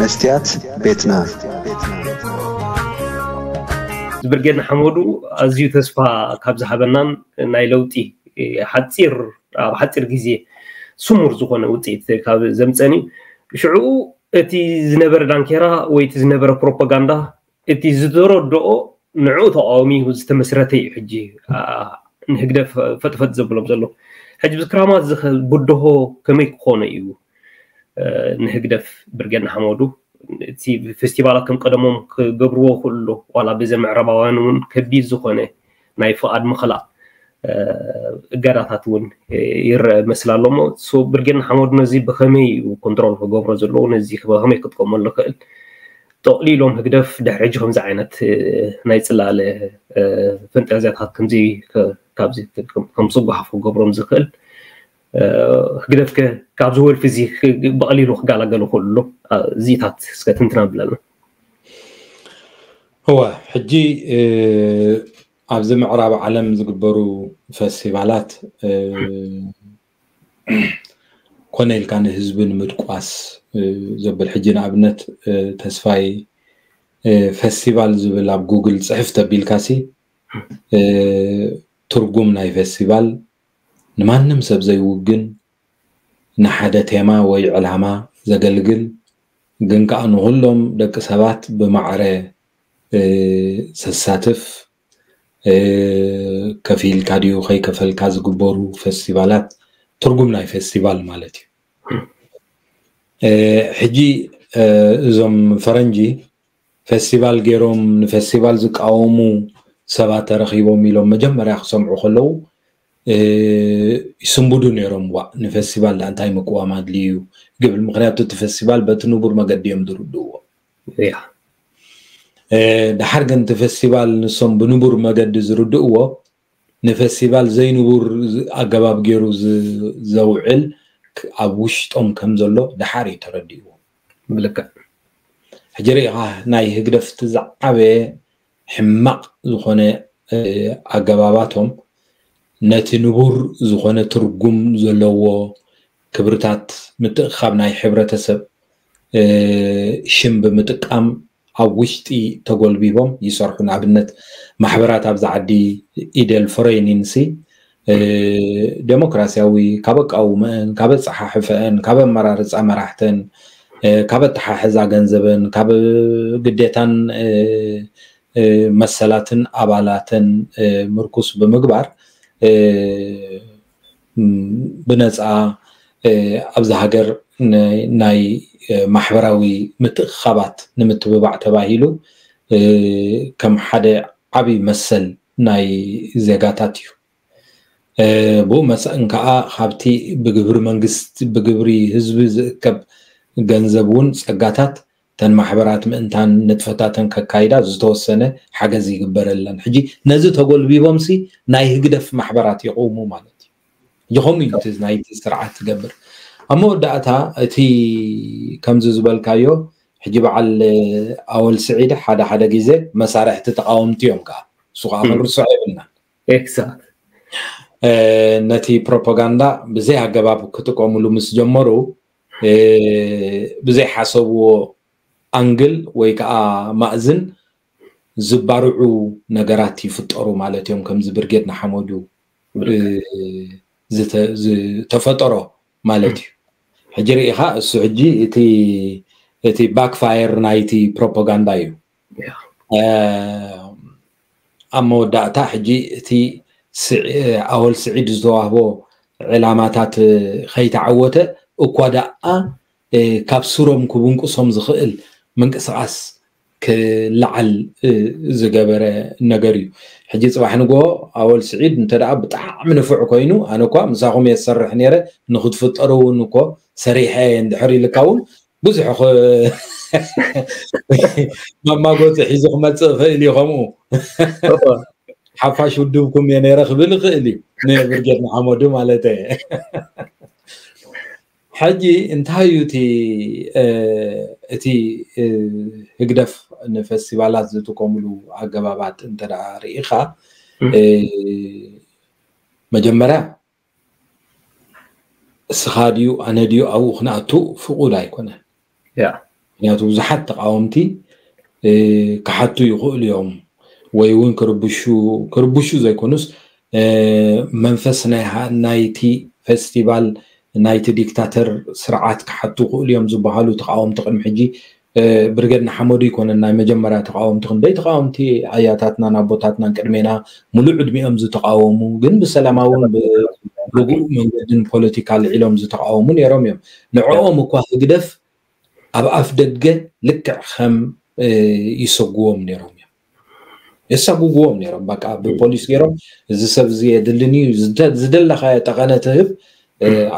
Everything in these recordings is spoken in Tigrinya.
መስትያት ቤትና። ብርጌድ ንሓመዱ ኣዝዩ ተስፋ ካብ ዝሃበናን ናይ ለውጢ ሓፂር ኣብ ሓፂር ግዜ ስሙር ዝኾነ ውፅኢት ካብ ዘምፀኒ ሽዑ እቲ ዝነበረ ዳንኬራ ወይ እቲ ዝነበረ ፕሮፓጋንዳ እቲ ዝተረድኦ ንዕኡ ተቃዋሚ ዝተመስረተ እዩ። ሕጂ ንህግደፍ ፈጥፈጥ ዘብሎም ዘሎ ሕጂ ብክራማት ብድሆ ከመይ ክኾነ እዩ? ንህግደፍ ብርጌድ ንሓመዱ እቲ ፌስቲቫላት ከም ቀደሞም ክገብርዎ ክእሉ ዋላ ብዘ ምዕራባውያን እውን ከቢድ ዝኾነ ናይ ፍቓድ ምኽላእ እገዳታት እውን ይረአ መስል ኣሎ እሞ ብርጌድ ንሓመዱ ነዚ ብኸመይ እዩ ኮንትሮል ክገብሮ ዘለዎ ነዚ ብኸመይ ክጥቀመሉ ክእል ጠቕሊሎም ህግደፍ ድሕሪ ሕጂ ከምዚ ዓይነት ናይ ፅላለ ፈንጠዝያታት ከምዚ ካብዚ ከም ስጓሓፍ ክገብሮም ዝኽእል ህግደፍ ከ ካብዚ ወልፊ እዚ ብቐሊሉ ክጋላገሉ ክእሉ እዚታት እስከ ትንትና ብለና። እወ ሕጂ ኣብዚ ምዕራብ ዓለም ዝግበሩ ፈስቲቫላት ኮነ ኢልካ ንህዝቢ ንምድቋስ ዘብል ሕጂ ንኣብነት ተስፋይ ፈስቲቫል ዝብል ኣብ ጉግል ፅሕፍ ተቢልካሲ ትርጉም ናይ ፈስቲቫል ንማንም ሰብ ዘይውግን ንሓደ ቴማ ወይ ዕላማ ዘገልግል ግን ከዓ ንኩሎም ደቂ ሰባት ብማዕረ ዘሳትፍ ከፊልካ ድዩ ከይከፈልካ ዝግበሩ ፈስቲቫላት ትርጉም ናይ ፈስቲቫል ማለት እዩ። ሕጂ እዞም ፈረንጂ ፈስቲቫል ገይሮም ንፈስቲቫል ዝቃወሙ ሰባት ተረኺቦም ኢሎም መጀመርያ ክሰምዑ ከለዉ ይስንብዱ ነይሮም። ዋ ንፈስቲቫል ዳ እንታይ ምቅዋም ኣድልዩ እዩ ግብል። ምክንያቱ እቲ ፈስቲቫል በቲ ንቡር መገዲ እዮም ዝርድእዎ። ድሓር ግን እቲ ፈስቲቫል ንሶም ብንቡር መገዲ ዝርድእዎ ንፈስቲቫል ዘይንቡር ኣገባብ ገይሩ ዘውዕል ኣብ ውሽጦም ከም ዘሎ ድሓር እዩ ተረዲእዎ። ብልክዕ ሕጂ ርኢኻ ናይ ህግደፍቲ ዝዓበየ ሕማቕ ዝኾነ ኣገባባቶም ነቲ ንቡር ዝኾነ ትርጉም ዘለዎ ክብርታት ምትእኻብ ናይ ሕብረተሰብ ሽም ብምጥቃም ኣብ ውሽጢ ተጎልቢቦም ይሰርሑ። ንኣብነት ማሕበራት ኣብዚ ዓዲ ኢደል ፍሬኒንሲ ዴሞክራሲያዊ ካብ ኣቃውመአን ካብ ኣፀሓሕፈአን ካብ ኣመራርፃ መራሕተን ካብ ኣተሓሕዛ ገንዘበን ካብ ግዴታን መሰላትን ኣባላተን ምርኩስ ብምግባር ብነፃ ኣብዚ ሃገር ናይ ማሕበራዊ ምትእኻባት ንምትብባዕ ተባሂሉ ከም ሓደ ዓብይ መሰል ናይ ዜጋታት እዩ። ብኡ መሰን ከዓ ካብቲ ብግብሪ መንግስቲ ብግብሪ ህዝቢ ዝእከብ ገንዘብ እውን ፀጋታት ተን ማሕበራት ምእንታን ንጥፈታተን ከካይዳ ዝተወሰነ ሓገዝ ይግበረለን። ሕጂ ነዚ ተጎልቢቦምሲ ናይ ህግደፍ ማሕበራት ይቕውሙ ማለት እዩ። ሕጂ ከምኡ እዩ እቲ ናይቲ ስርዓት ትገብር። ኣብ መወዳእታ እቲ ከምዚ ዝበልካዮ ሕጂ በዓል ኣወል ስዒድ ሓደ ሓደ ግዜ መሳርሕቲ ተቃወምቲ እዮም ከዓ እሱ ከዓ ክንርስዖ የብልናን። ኤግዛክት ነቲ ፕሮፓጋንዳ ብዘይ ኣገባብ ክጥቀምሉ ምስ ጀመሩ ብዘይሓሰብዎ ኣንግል ወይ ከዓ ማእዝን ዝባርዑ ነገራት ይፍጠሩ ማለት እዮም። ከምዚ ብርጌድ ንሓመዱ ዝተፈጠሮ ማለት እዩ። ሕጂ ርኢኻ እሱ ሕጂ እቲ እቲ ባክፋየር ናይቲ ፕሮፓጋንዳ እዩ። ኣብ መወዳእታ ሕጂ እቲ ኣወል ስዒድ ዝተዋህቦ ዕላማታት ከይተዓወተ እኳ ደኣ ካብ ስሮም ክብንቅሶም ዝኽእል ምንቅስቃስ ክለዓል ዝገበረ ነገር እዩ። ሕጂ ፅባሕ ንግሆ ኣወል ስዒድ እንተ ደኣ ብጣዕሚ ንፉዕ ኮይኑ ኣነ እኳ ምሳኹም እየ ዝሰርሕ ነይረ ንክትፍጠሩ እውን እኮ ሰሪሐ እየ እንድሕር ኢልካ እውን ብዙሕ መማጎፂ ሒዙ ክመፅእ ይኽእል እዩ። ከምኡ ሓፋሽ ውድብኩም እየ ነይረ ክብል ይኽእል እዩ ንብርጌድ ንሓመዱ ማለት እየ። ሕጂ እንታይ እዩ እቲ እቲ ህግደፍ ንፈስቲቫላት ዝጥቀምሉ ኣገባባት እንተ ደኣ ርኢኻ መጀመርያ እስኻ ድዩ ኣነ ድዩ ኣብኡ ክንኣቱ ፍቑድ ኣይኮነን። ያ ምክንያቱ ብዙሓት ተቃወምቲ ክሓቱ ይኽእሉ እዮም፣ ወይ እውን ክርብሹ ክርብሹ ዘይኮኑስ መንፈስ ናይቲ ፌስቲቫል ናይቲ ዲክታተር ስርዓት ክሓቱ ይኽእሉ እዮም ዝበሃሉ ተቃወምቲ ቅድሚ ሕጂ ብርጌድ ንሓመዱ ይኮነን ናይ መጀመርያ ተቃወምቲ። ክንደይ ተቃወምቲ ኣያታትናን ኣቦታትናን ቅድሜና ሙሉእ ዕድሚኦም ዝተቃወሙ፣ ግን ብሰላማውን ብርጉእ መንገድን ፖለቲካ ልዒሎም ዝተቃወሙ ነይሮም እዮም። ንዕኦም እኳ ህግደፍ ኣብ ኣፍ ደገ ልክዕ ከም ይሰጉዎም ነይሮም እዮም። የሳጉጉዎም ነይሮም። በቃ ብፖሊስ ገይሮም፣ እዚ ሰብ እዚ የድልን እዩ፣ ዝደለኻዮ ጠቐነ ትህብ።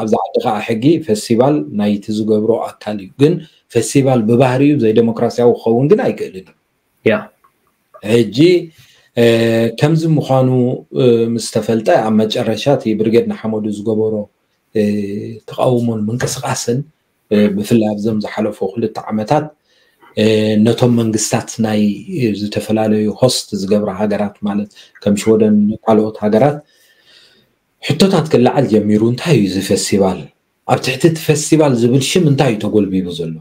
ኣብዚ ዓዲ ከዓ ሕጊ ፌስቲቫል ናይቲ ዝገብሮ ኣካል እዩ። ግን ፌስቲቫል ብባህሪኡ ዘይደሞክራሲያዊ ክኸውን ግን ኣይክእልን እዩ። ሕጂ ከምዚ ምዃኑ ምስ ተፈልጠ፣ ኣብ መጨረሻ እቲ ብርጌድ ንሓመዱ ዝገበሮ ተቃውሞን ምንቅስቃስን ብፍላይ ኣብዞም ዝሓለፉ ክልተ ዓመታት ነቶም መንግስታት ናይ ዝተፈላለዩ ሆስት ዝገብራ ሃገራት፣ ማለት ከም ሽወደን ካልኦት ሃገራት፣ ሕቶታት ክለዓል ጀሚሩ። እንታይ እዩ እዚ ፌስቲቫል? ኣብ ትሕቲ እቲ ፌስቲቫል ዝብል ሽም እንታይ እዩ ተጎልቢቡ ዘሎ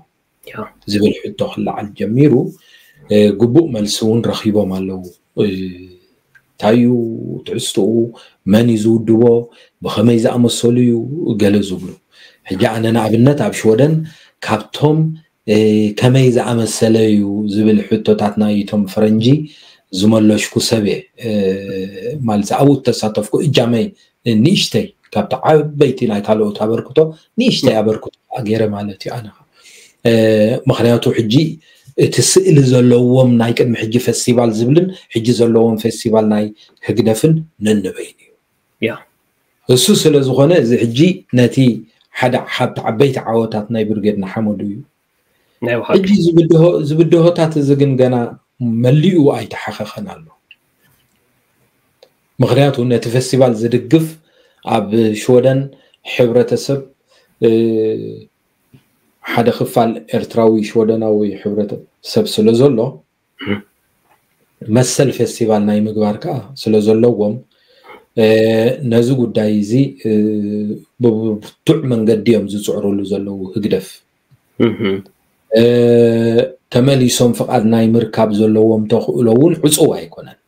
ዝብል ሕቶ ክለዓል ጀሚሩ። ግቡእ መልሲ እውን ረኪቦም ኣለዉ። እንታይ እዩ ትሕዝትኡ? መን እዩ ዝውድቦ? ብኸመይ ዝኣመሰሉ እዩ? ገለ ዝብሉ። ሕጂ ኣነ ንኣብነት ኣብ ሽወደን ካብቶም ከመይ ዝኣመሰለ እዩ ዝብል ሕቶታት ናይቶም ፈረንጂ ዝመለሽኩ ሰብ እየ። ማለት ኣብኡ እተሳተፍኩ እጃመይ ንእሽተይ፣ ካብቲ ዓበይቲ ናይ ካልኦት ኣበርክቶ ንእሽተይ ኣበርክቶ ገይረ ማለት እዩ። ኣነ ምክንያቱ ሕጂ እቲ ስእሊ ዘለዎም ናይ ቅድሚ ሕጂ ፌስቲቫል ዝብልን ሕጂ ዘለዎም ፌስቲቫል ናይ ህግደፍን ነንበይኑ እዩ። እሱ ስለ ዝኾነ እዚ ሕጂ ነቲ ሓደ ካብቲ ዓበይቲ ዓወታት ናይ ብርጌድ ንሓመዱ እዩ። ሕጂ ዝብድሆታት እዚ ግን ገና መሊኡ ኣይተሓኸኸን ኣሎ። ምክንያቱ ነቲ ፌስቲቫል ዝድግፍ ኣብ ሽወደን ሕብረተሰብ ሓደ ክፋል ኤርትራዊ ሽወደናዊ ሕብረተሰብ ስለ ዘሎ መሰል ፌስቲቫል ናይ ምግባር ከዓ ስለ ዘለዎም ነዚ ጉዳይ እዚ ብብርቱዕ መንገዲ እዮም ዝፅዕሩሉ ዘለዉ ህግደፍ። ተመሊሶም ፍቓድ ናይ ምርካብ ዘለዎም ተኽእሎ እውን ዕፁው ኣይኮነን።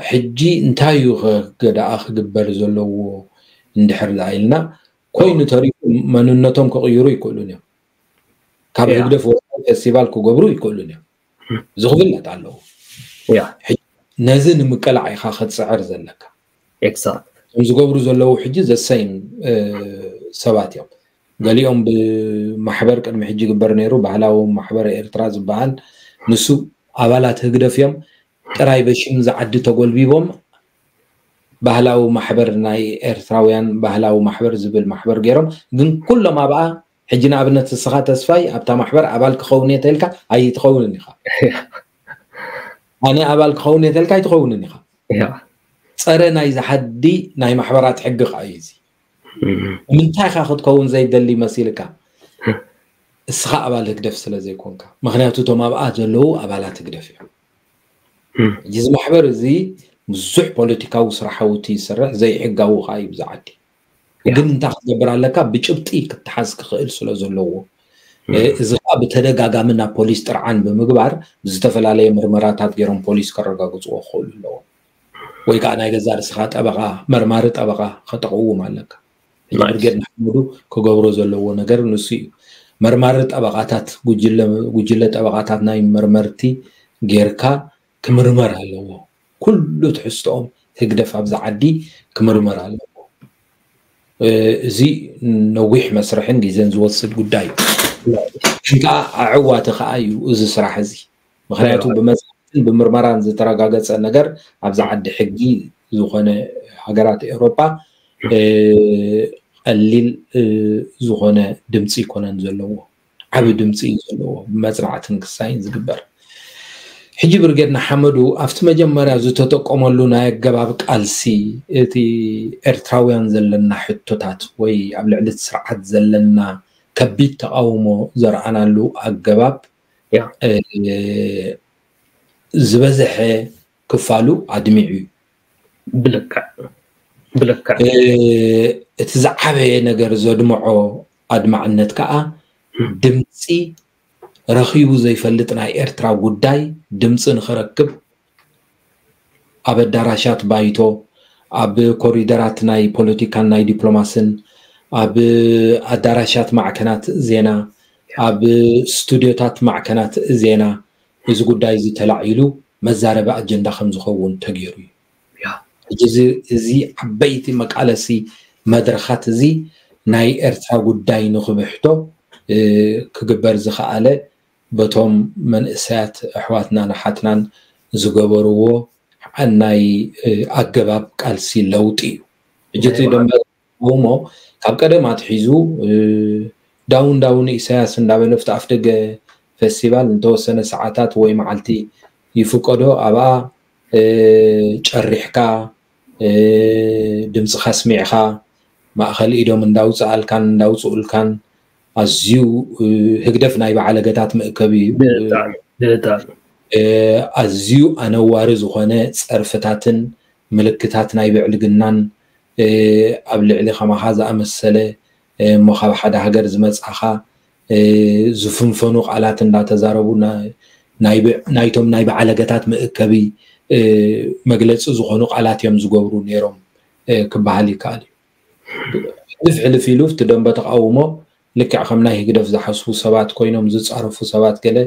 ሕጂ እንታይ እዩ ከ ደኣ ክግበር ዘለዎ እንድሕር ደኣ ኢልና፣ ኮይኑ ተሪፉ መንነቶም ክቕይሩ ይክእሉን እዮም። ካብ ህግደፍ ወፃኢ ፌስቲቫል ክገብሩ ይክእሉን እዮም። እዚ ክፍለጥ ኣለዎ። ነዚ ንምቅላዕ ኢኻ ክትፅዕር ዘለካ። እቶም ዝገብሩ ዘለዉ ሕጂ ዘሰይም ሰባት እዮም። ገሊኦም ብማሕበር ቅድሚ ሕጂ ይግበር ነይሩ፣ ባህላዊ ማሕበር ኤርትራ ዝበሃል፣ ንሱ ኣባላት ህግደፍ እዮም። ጥራይ በሽም ዝዓዲ ተጎልቢቦም ባህላዊ ማሕበር ናይ ኤርትራውያን ባህላዊ ማሕበር ዝብል ማሕበር ገይሮም፣ ግን ኩሎም ኣብኣ ሕጂ ንኣብነት እስኻ ተስፋይ ኣብታ ማሕበር ኣባል ክኸውን እየ ተልካ ኣይትኸውንን ኢኻ። ኣነ ኣባል ክኸውን እየ ተልካ ኣይትኸውንን ኢኻ። ጸረ ናይ ዝሓዲ ናይ ማሕበራት ሕጊ ከዓ እዩ እዚ። ንምንታይ ኢኻ ክትከውን ዘይደሊ መሲልካ? እስኻ ኣባል ህግደፍ ስለ ዘይኮንካ። ምክንያቱ እቶም ኣብኣ ዘለዉ ኣባላት ህግደፍ እዮም። ሕጂ እዚ ማሕበር እዚ ብዙሕ ፖለቲካዊ ስራሓውቲ ይሰርሕ፣ ዘይሕጋዊ ከዓ እዩ ብዝዓዲ። ግን እንታይ ክትገብር ኣለካ? ብጭብጢ ክትሓዝ ክኽእል ስለ ዘለዎ። እዚ ከዓ ብተደጋጋሚ ናብ ፖሊስ ጥርዓን ብምግባር ብዝተፈላለየ ምርመራታት ገይሮም ፖሊስ ከረጋግፅዎ ክኽእሉ ኣለዎም። ወይ ከዓ ናይ ገዛ ርእስኻ ጠበቓ፣ መርማሪ ጠበቓ ከተቕውም ኣለካ። ሕጂ ብርጌድ ንሓመዱ ክገብሮ ዘለዎ ነገር ንሱ እዩ። መርማሪ ጠበቓታት፣ ጉጅለ ጠበቓታት ናይ መርመርቲ ጌርካ ክምርመር ኣለዎ። ኩሉ ትሕዝቶኦም ህግደፍ ኣብዚ ዓዲ ክምርመር ኣለዎ። እዚ ነዊሕ መስርሕን ግዜን ዝወስድ ጉዳይ እዩ። ግን ከዓ ኣዕዋቲ ከዓ እዩ እዚ ስራሕ እዚ። ምክንያቱ ብመፅናዕትን ብምርመራን ዝተረጋገፀ ነገር ኣብዚ ዓዲ ሕጊ ዝኾነ ሃገራት ኤውሮጳ ቀሊል ዝኾነ ድምፂ ይኮነን ዘለዎ። ዓቢ ድምፂ እዩ ዘለዎ ብመፅናዕትን ክሳይን ዝግበር። ሕጂ ብርጌድ ንሓመዱ ኣብቲ መጀመርያ ዝተጠቀመሉ ናይ ኣገባብ ቃልሲ እቲ ኤርትራውያን ዘለና ሕቶታት ወይ ኣብ ልዕሊ እቲ ስርዓት ዘለና ከቢድ ተቃውሞ ዘርኣናሉ ኣገባብ ዝበዝሐ ክፋሉ ኣድሚዑ እዩ። ብልክዕ ብልክዕ እቲ ዝዓበየ ነገር ዘድምዖ ኣድማዕነት ከዓ ድምፂ ረኺቡ ዘይፈልጥ ናይ ኤርትራ ጉዳይ ድምፂ ንኽረክብ ኣብ ኣዳራሻት ባይቶ፣ ኣብ ኮሪደራት ናይ ፖለቲካን ናይ ዲፕሎማስን፣ ኣብ ኣዳራሻት ማዕከናት ዜና፣ ኣብ ስቱድዮታት ማዕከናት ዜና እዚ ጉዳይ እዚ ተላዒሉ መዛረቢ ኣጀንዳ ከም ዝኸውን ተገይሩ እዩ። ሕጂ እዚ ዓበይቲ መቃለሲ መድረኻት እዚ ናይ ኤርትራ ጉዳይ ንኽብሕቶ ክግበር ዝኸኣለ በቶም መንእሰያት ኣሕዋትናን ኣሓትናን ዝገበርዎ ናይ ኣገባብ ቃልሲ ለውጢ እዩ። ሕጂ እቲ ደንበ እሞ ካብ ቀደም ኣትሒዙ ዳውን ዳውን ኢሳያስ እንዳበለ ኣብቲ ኣፍደገ ፌስቲቫል እንተወሰነ ሰዓታት ወይ መዓልቲ ይፍቀዶ ኣብኣ ጨሪሕካ ድምፅኻ ስሚዕካ ማእኸል ኢዶም እንዳውፅኣልካን እንዳውፅኡልካን ኣዝዩ ህግደፍ ናይ ባዓለገታት መእከቢ እዩ። ኣዝዩ ኣነዋሪ ዝኾነ ፀርፍታትን ምልክታት ናይ ብዕልግናን ኣብ ልዕሊ ከማኻ ዝኣመሰለ እሞ ካብ ሓደ ሃገር ዝመፃኻ ዝፍንፈኑ ቃላት እንዳተዛረቡ ናይቶም ናይ ባዓለገታት መእከቢ መግለፂ ዝኾኑ ቃላት እዮም ዝገብሩ ነይሮም ክበሃል ይከኣል እዩ። ሕልፍ ሕልፍ ኢሉ እቲ ደንበ ተቃውሞ ልክዕ ከም ናይ ህግደፍ ዝሓስቡ ሰባት ኮይኖም ዝፃረፉ ሰባት ገለ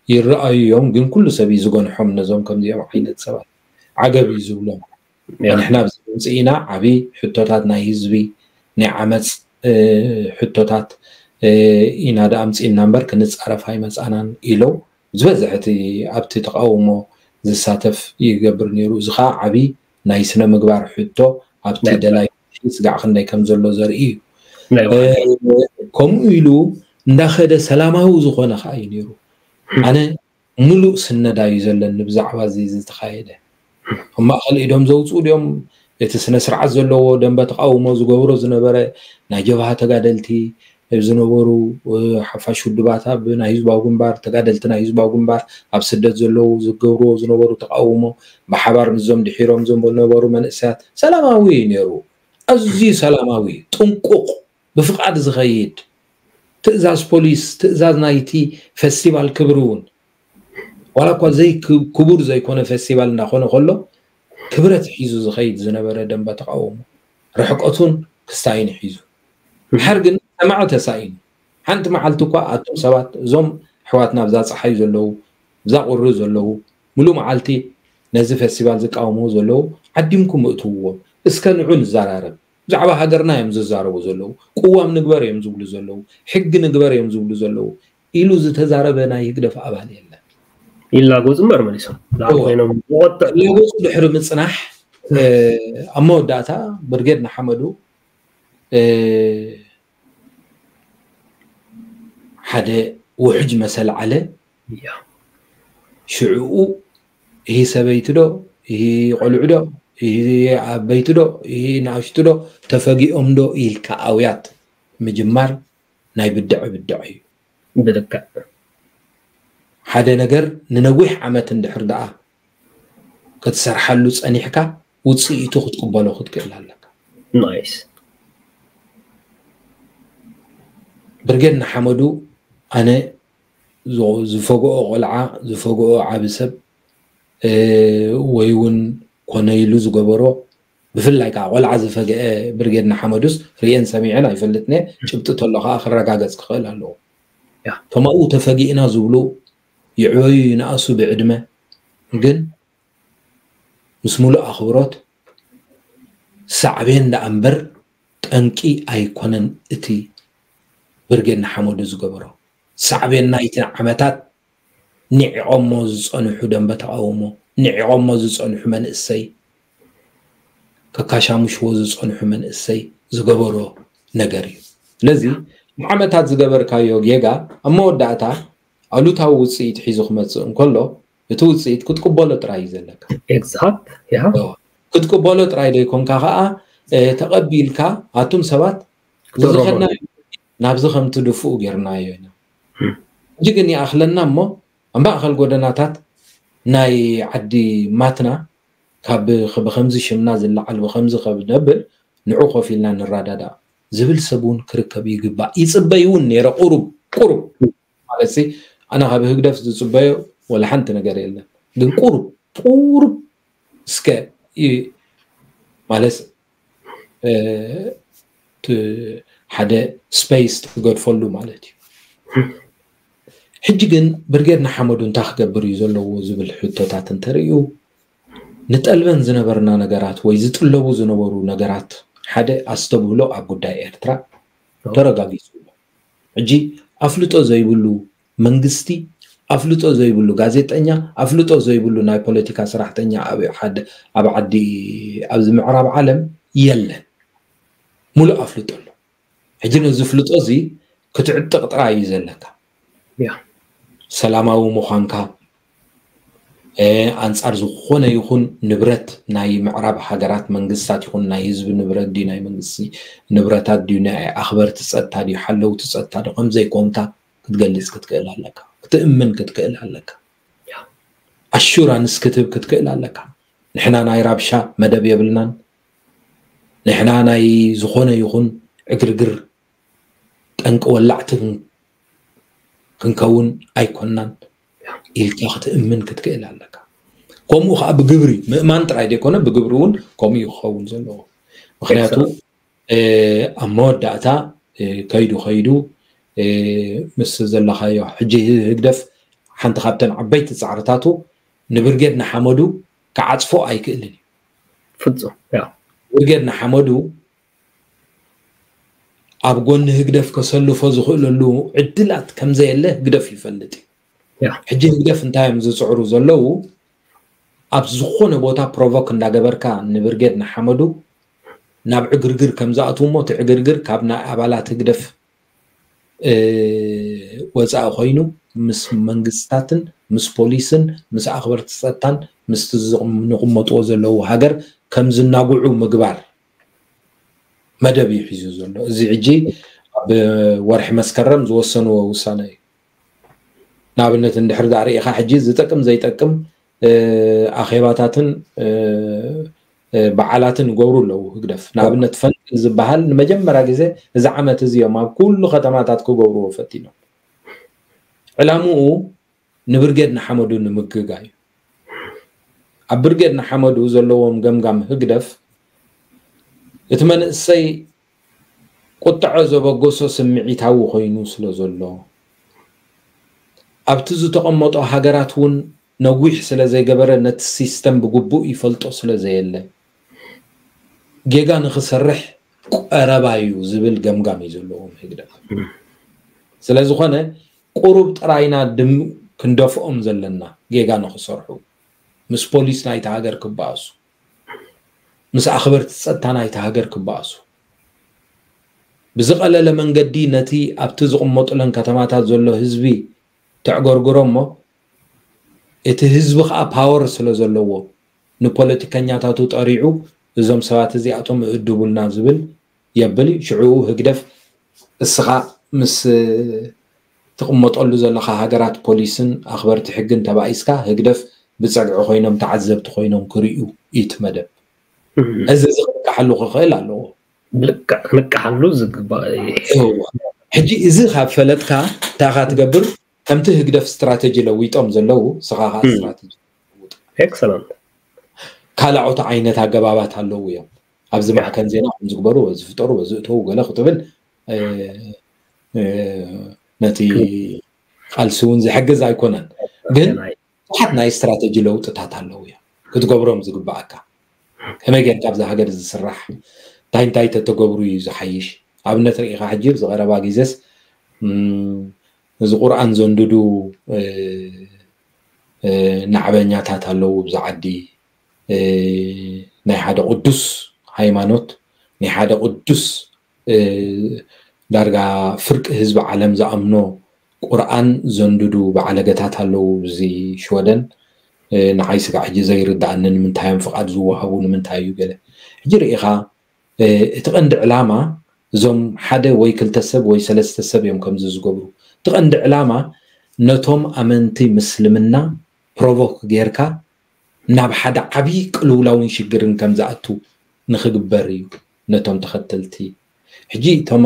ይረኣዩ እዮም። ግን ኩሉ ሰብ እዩ ዝገንሖም ነዞም ከምዚኦም ዓይነት ሰባት ዓገብ እዩ ዝብሎም። ንሕና ኣብዚ ምምፅኢና ዓብዪ ሕቶታት ናይ ህዝቢ ናይ ዓመፅ ሕቶታት ኢና ደኣ ኣምፂእና እምበር ክንፃረፍ ኣይመፃናን ኢለው። ዝበዝሕ እቲ ኣብቲ ተቃውሞ ዝሳተፍ ይገብር ነይሩ። እዚ ከዓ ዓብዪ ናይ ስነ ምግባር ሕቶ ኣብቲ ደላይ ስጋዕ ክንደይ ከም ዘሎ ዘርኢ እዩ። ከምኡ ኢሉ እንዳኸደ ሰላማዊ ዝኾነ ከዓ እዩ ነይሩ። ኣነ ሙሉእ ስነዳ እዩ ዘለኒ ብዛዕባ እዚ ዝተኻየደ። ኣብ ማእኸል ኢዶም ዘውፅኡ ድዮም እቲ ስነ ስርዓት ዘለዎ ደንበ ተቃውሞ ዝገብሮ ዝነበረ ናይ ጀብሃ ተጋደልቲ ዝነበሩ ሓፋሽ ውድባት ኣብ ናይ ህዝባዊ ግንባር ተጋደልቲ ናይ ህዝባዊ ግንባር ኣብ ስደት ዘለዉ ዝገብርዎ ዝነበሩ ተቃውሞ ብሓባር ምስዞም ድሒሮም ዝነበሩ መንእሰያት ሰላማዊ እዩ ነይሩ። ኣዝዩ ሰላማዊ ጥንቁቕ ብፍቓድ ዝኸይድ ትእዛዝ ፖሊስ ትእዛዝ ናይቲ ፈስቲቫል ክብሪ እውን ዋላ እኳ ዘይ ክቡር ዘይኮነ ፈስቲቫል እንዳኾነ ከሎ ክብረት ሒዙ ዝኸይድ ዝነበረ ደንበ ተቃውሞ ርሕቀቱን ክስታይን ሒዙ ድሓር ግን ሰማዒ ተሳኢኑ ሓንቲ መዓልቲ እኳ ኣቱም ሰባት እዞም ኣሕዋትና ብዛ ፀሓይ ዘለዉ ብዛ ቁሪ ዘለዉ ሙሉእ መዓልቲ ነዚ ፈስቲቫል ዝቃወምዎ ዘለዉ ዓዲምኩም እእትውዎም እስከ ንዑ ንዘራረብ ብዛዕባ ሃገርና እዮም ዝዛረቡ ዘለዉ ቅዋም ንግበር እዮም ዝብሉ ዘለዉ ሕጊ ንግበር እዮም ዝብሉ ዘለዉ ኢሉ ዝተዛረበ ናይ ህግደፍ ኣባል የለን። ይላጎፁ እምበር መሊሶም ላዕሊ ኮይኖም ዝቆጥዕ ላጎፁ ድሕሪ ምፅናሕ ኣብ መወዳእታ ብርጌድ ንሓመዱ ሓደ ውሕጅ መሰል ዓለ ሽዕኡ ይህ ሰበይቲ ዶ ይህ ቆልዑ ዶ ይህ ዓበይቲ ዶ ይህ ንኣሽቱ ዶ ተፈጊኦም ዶ ኢልካ ኣውያት ምጅማር ናይ ብድዐ ብድዐ እዩ። ብልክዕ ሓደ ነገር ንነዊሕ ዓመት እንድሕር ደኣ ክትሰርሓሉ ጸኒሕካ ውጽኢቱ ክትቅበሎ ክትክእል ኣለካ። ናይስ ብርጌድ ንሓመዱ ኣነ ዝፈግኦ ቆልዓ ዝፈግኦ ዓቢ ሰብ ወይ እውን ኮነ ኢሉ ዝገበሮ ብፍላይ ከዓ ቆልዓ ዝፈግአ ብርጌድ ንሓመዱስ ርእየን ሰሚዐን ኣይፈልጥን እየ። ጭብጢ ተሎ ከዓ ክረጋገፅ ክኽእል ኣለዎ። እቶም ኣብኡ ተፈጊእና ዝብሉ ይዕበዩ ይንኣሱ ብዕድመ ግን ምስ ሙሉእ ኣኽብሮት ሳዕቤን ደኣ እምበር ጠንቂ ኣይኮነን እቲ ብርጌድ ንሓመዱ ዝገበሮ። ሳዕቤን ናይቲ ዓመታት ኒዒቖሞ ዝፀንሑ ደንበ ተቓውሞ፣ ኒዒቖሞ ዝፀንሑ መንእሰይ፣ ከካሻምሽዎ ዝፀንሑ መንእሰይ ዝገበሮ ነገር እዩ። ስለዚ ንዓመታት ዝገበርካዮ ጌጋ ኣብ መወዳእታ ኣሉታዊ ውፅኢት ሒዙ ክመፅእ እንከሎ እቲ ውፅኢት ክትቅበሎ ጥራይ እዩ ዘለካ። ኤግዛክት ያ ክትቅበሎ ጥራይ ዘይኮንካ ከዓ ተቐቢልካ ኣቱም ሰባት ዝኸድና ናብዚ ከም ትድፍኡ ጌርናዮ ኢና። ሕጂ ግን ይኣኽለና እሞ ኣብ ማእኸል ጎደናታት ናይ ዓዲ ማትና ካብ ብኸምዚ ሽምና ዝለዓል ብኸምዚ ከብነብል ንዑ ኮፍ ኢልና ንረዳዳእ ዝብል ሰብ እውን ክርከብ ይግባእ። ይፅበይ እውን ነይረ ቁሩብ ቁሩብ ማለት ሲ ኣነ ካብ ህግደፍ ዝፅበዮ ወላ ሓንቲ ነገር የለን። ግን ቁሩብ ቁሩብ እስከ ይ- ማለት እ፣ ት- ሓደ ስፔስ ትገድፈሉ ማለት እዩ። ሕጂ ግን ብርጌድ ንሓመዱ እንታይ ክገብር እዩ ዘለዎ ዝብል ሕቶታት እንተርእዩ ንጠልበን ዝነበርና ነገራት ወይ ዝጥለቡ ዝነበሩ ነገራት ሓደ ኣስተብህሎ ኣብ ጉዳይ ኤርትራ ተረጋጊጹ ኣሎ። ሕጂ ኣፍልጦ ዘይብሉ መንግስቲ፣ ኣፍልጦ ዘይብሉ ጋዜጠኛ፣ ኣፍልጦ ዘይብሉ ናይ ፖለቲካ ስራሕተኛ ኣብ ሓደ ኣብ ዓዲ ኣብዚ ምዕራብ ዓለም የለን። ሙሉእ ኣፍልጦ ኣሎ። ሕጂ ነዚ ፍልጦ እዚ ክትዕጥቕ ጥራይ እዩ ዘለካ። ያ ሰላማዊ ምዃንካ ኣንጻር ዝኾነ ይኹን ንብረት ናይ ምዕራብ ሃገራት መንግስታት ይኹን ናይ ህዝቢ ንብረት ድዩ ናይ መንግስቲ ንብረታት ድዩ ናይ ኣኽበርቲ ጸጥታ ድዩ ሓለውቲ ጸጥታ ድዩ ከምዘይኮንካ ክትገልጽ ክትክእል ኣለካ ክትእምን ክትክእል ኣለካ ኣሹራንስ ክትህብ ክትክእል ኣለካ ንሕና ናይ ራብሻ መደብ የብልናን ንሕና ናይ ዝኾነ ይኹን ዕግርግር ጠንቂ ወላዕቲ ክንከውን ኣይኮናን ኢልካ ክትእምን ክትክእል ኣለካ ከምኡ ከዓ ብግብሪ ምእማን ጥራይ ዘይኮነ ብግብሪ እውን ከምኡ እዩ ክኸውን ዘለዎ ምክንያቱ ኣብ መወዳእታ ከይዱ ከይዱ ምስ ዘለካዮ ሕጂ ህግደፍ ሓንቲ ካብተን ዓበይቲ ፃዕርታቱ ንብርጌድ ንሓመዱ ክዓፅፎ ኣይክእልን እዩ ፍፁም ብርጌድ ንሓመዱ ኣብ ጎኒ ህግደፍ ከሰልፎ ዝኽእለሉ ዕድላት ከምዘየለ ህግደፍ ይፈልጥ እዩ ሕጂ ህግደፍ እንታይ እዮም ዝፅዕሩ ዘለዉ ኣብ ዝኾነ ቦታ ፕሮቮክ እንዳገበርካ ንብርጌድ ንሓመዱ ናብ ዕግርግር ከም ዝኣትዉ እሞ እቲ ዕግርግር ካብ ናይ ኣባላት ህግደፍ ወፃኢ ኮይኑ ምስ መንግስታትን ምስ ፖሊስን ምስ ኣኽበርቲ ፀጥታን ምስቲ ንቕመጥዎ ዘለዉ ሃገር ከም ዝናጉዑ ምግባር መደብ እዩ ሒዙ ዘሎ እዚ ሕጂ ኣብ ወርሒ መስከረም ዝወሰንዎ ውሳነ እዩ ንኣብነት እንድሕር ዳኣ ርኢኻ ሕጂ ዝጠቅም ዘይጠቅም ኣኼባታትን በዓላትን ይገብሩ ኣለዉ ህግደፍ ንኣብነት ፈንቅል ዝበሃል ንመጀመርያ ግዜ እዚ ዓመት እዚ እዮም ኣብ ኩሉ ከተማታት ክገብርዎ ፈቲኖም ዕላምኡ ንብርጌድ ንሓመዱ ንምግጋ እዩ ኣብ ብርጌድ ንሓመዱ ዘለዎም ገምጋም ህግደፍ እቲ መንእሰይ ቁጥዐ ዘበገሶ ስምዒታዊ ኮይኑ ስለ ዘሎ ኣብቲ ዝተቐመጦ ሃገራት እውን ነዊሕ ስለ ዘይገበረ ነቲ ሲስተም ብግቡእ ይፈልጦ ስለ ዘየለ ጌጋ ንክሰርሕ ቀረባ እዩ ዝብል ገምጋም እዩ ዘለዎም ህግደፍ ስለዝኾነ ቁሩብ ጥራይና ድም ክንደፍኦም ዘለና ጌጋ ንክሰርሑ ምስ ፖሊስ ናይቲ ሃገር ክበኣሱ ምስ ኣኽበርቲ ጸጥታ ናይቲ ሃገር ክበኣሱ ብዝቐለለ መንገዲ ነቲ ኣብቲ ዝቕመጡለን ከተማታት ዘሎ ህዝቢ ተዕገርግሮ እሞ እቲ ህዝቢ ከዓ ፓወር ስለ ዘለዎ ንፖለቲከኛታቱ ጠሪዑ እዞም ሰባት እዚኣቶም እእድቡልና ዝብል የብል ሽዑኡ ህግደፍ እስኻ ምስ ትቕመጠሉ ዘለኻ ሃገራት ፖሊስን ኣኽበርቲ ሕግን ተባኢስካ ህግደፍ ብፀግዒ ኮይኖም ተዓዘብቲ ኮይኖም ክርእዩ እዩ እቲ መደብ እዚ እዚ ክነቅሓሉ ክኽእል ኣለዎ ልክዕ ክንቀሓሉ ዝግባእ እዩ ሕጂ እዚ ካብ ፈለጥካ እንታይ ኢኻ ትገብር ከምቲ ህግደፍ ስትራተጂ ለዊጦም ዘለዉ ስኻ ከዓ ስትራተጂ ኤክሰለንት ካልኦት ዓይነት ኣገባባት ኣለዉ እዮም ኣብዚ ማዕከን ዜና ከም ዝግበሩ ዝፍጠሩ ዝእተዉ ገለ ክትብል ነቲ ቃልሲ እውን ዝሕግዝ ኣይኮነን ግን ብዙሓት ናይ ስትራተጂ ለውጥታት ኣለዉ እዮም ክትገብሮም ዝግባኣካ ከመይ ጌርካ ኣብዚ ሃገር ዝስራሕ እንታይ እንታይ ተተገብሩ እዩ ዝሓይሽ ኣብነት ርኢኻ ሕጂ ዝቐረባ ግዜስ እዚ ቁርኣን ዘንድዱ ናዕበኛታት ኣለዉ ብዚ ዓዲ ናይ ሓደ ቅዱስ ሃይማኖት ናይ ሓደ ቅዱስ ዳርጋ ፍርቂ ህዝቢ ዓለም ዝኣምኖ ቁርኣን ዘንድዱ በዓለገታት ኣለዉ እዚ ሽወደን ንዓይ ስጋዕ ሕጂ ዘይርድኣኒ ንምንታይ እዮም ፍቓድ ዝወሃቡ ንምንታይ እዩ ገለ ሕጂ ርኢኻ እቲ ቀንዲ ዕላማ እዞም ሓደ ወይ ክልተ ሰብ ወይ ሰለስተ ሰብ እዮም ከምዚ ዝገብሩ እቲ ቀንዲ ዕላማ ነቶም ኣመንቲ ምስልምና ፕሮቮክ ጌርካ ናብ ሓደ ዓብዪ ቅልውላውን ሽግርን ከም ዝኣቱ ንክግበር እዩ ነቶም ተኸተልቲ ሕጂ እቶም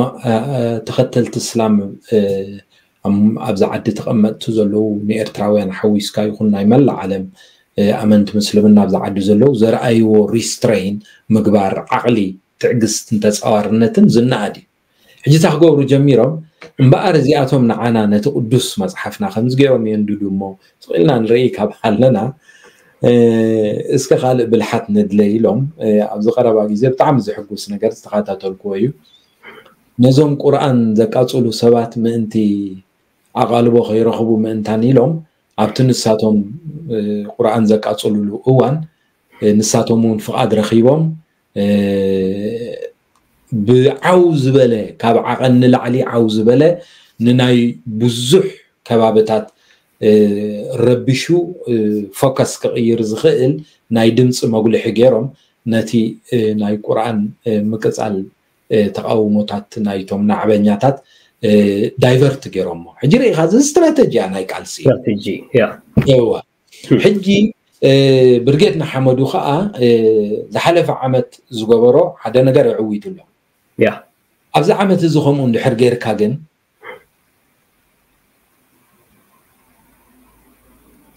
ተኸተልቲ እስላም ኣብዚ ዓዲ ተቐመጥቲ ዘለዉ ንኤርትራውያን ሓዊስካ ይኹን ናይ መላእ ዓለም ኣመንቲ ምስልምና ኣብዚ ዓዲ ዘለዉ ዘርኣይዎ ሪስትሬን ምግባር ዓቕሊ ትዕግስትን ተፃዋርነትን ዝነኣድ እዩ። ሕጂ እታ ክገብሩ ጀሚሮም እምበኣር እዚኣቶም ንዓና ነቲ ቅዱስ መፅሓፍና ከምዚ ገይሮም የንድዱ እሞ ስቕ ኢልና ንርኢ ካብ ኣለና እስከ ካልእ ብልሓት ንድለ ኢሎም ኣብዚ ቀረባ ግዜ ብጣዕሚ ዝሕጉስ ነገር ዝተኸታተልክዎ እዩ። ነዞም ቁርኣን ዘቃፅሉ ሰባት ምእንቲ ኣቓልቦ ከይረኽቡ ምእንታን ኢሎም ኣብቲ ንሳቶም ቁርኣን ዘቃፅሉሉ እዋን ንሳቶም እውን ፍቓድ ረኺቦም ብዓው ዝበለ ካብ ዓቐን ንላዕሊ ዓው ዝበለ ንናይ ብዙሕ ከባብታት ረቢሹ ፎከስ ክቕይር ዝኽእል ናይ ድምፂ መጉልሒ ገይሮም ነቲ ናይ ቁርኣን ምቅፃል ተቃውሞታት ናይቶም ናዕበኛታት ዳይቨርት ገይሮሞ። ሕጂ ርኢኻ እዚ ስትራተጂያ ናይ ቃልሲ ስትራተጂ ያ እዋ ሕጂ ብርጌድ ንሓመዱ ከዓ ዝሓለፈ ዓመት ዝገበሮ ሓደ ነገር የዕዊቱ ኣሎ። ያ ኣብዚ ዓመት እዚ ከምኡ እንድሕር ገይርካ ግን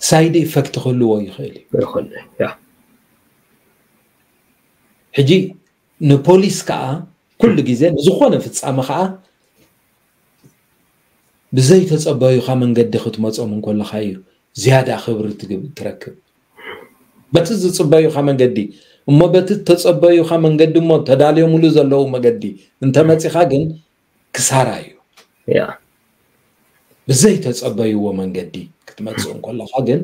ሳይድ ኢፈክት ክህልዎ ይኽእል እዩ። ይኽእል ያ ሕጂ ንፖሊስ ከዓ ኩሉ ግዜ ንዝኾነ ፍፃመ ከዓ ብዘይተፀበዩኻ መንገዲ ክትመፆም እንከለኻ እዩ ዝያዳ ክብሪ ትረክብ። በቲ ዝፅበዩኻ መንገዲ እሞ በቲ ተፀበዩኻ መንገዲ እሞ ተዳልዮምሉ ዘለዉ መገዲ እንተመፂኻ ግን ክሳራ እዩ። ያ ብዘይተፀበይዎ መንገዲ ክትመፅእ እንከለኻ ግን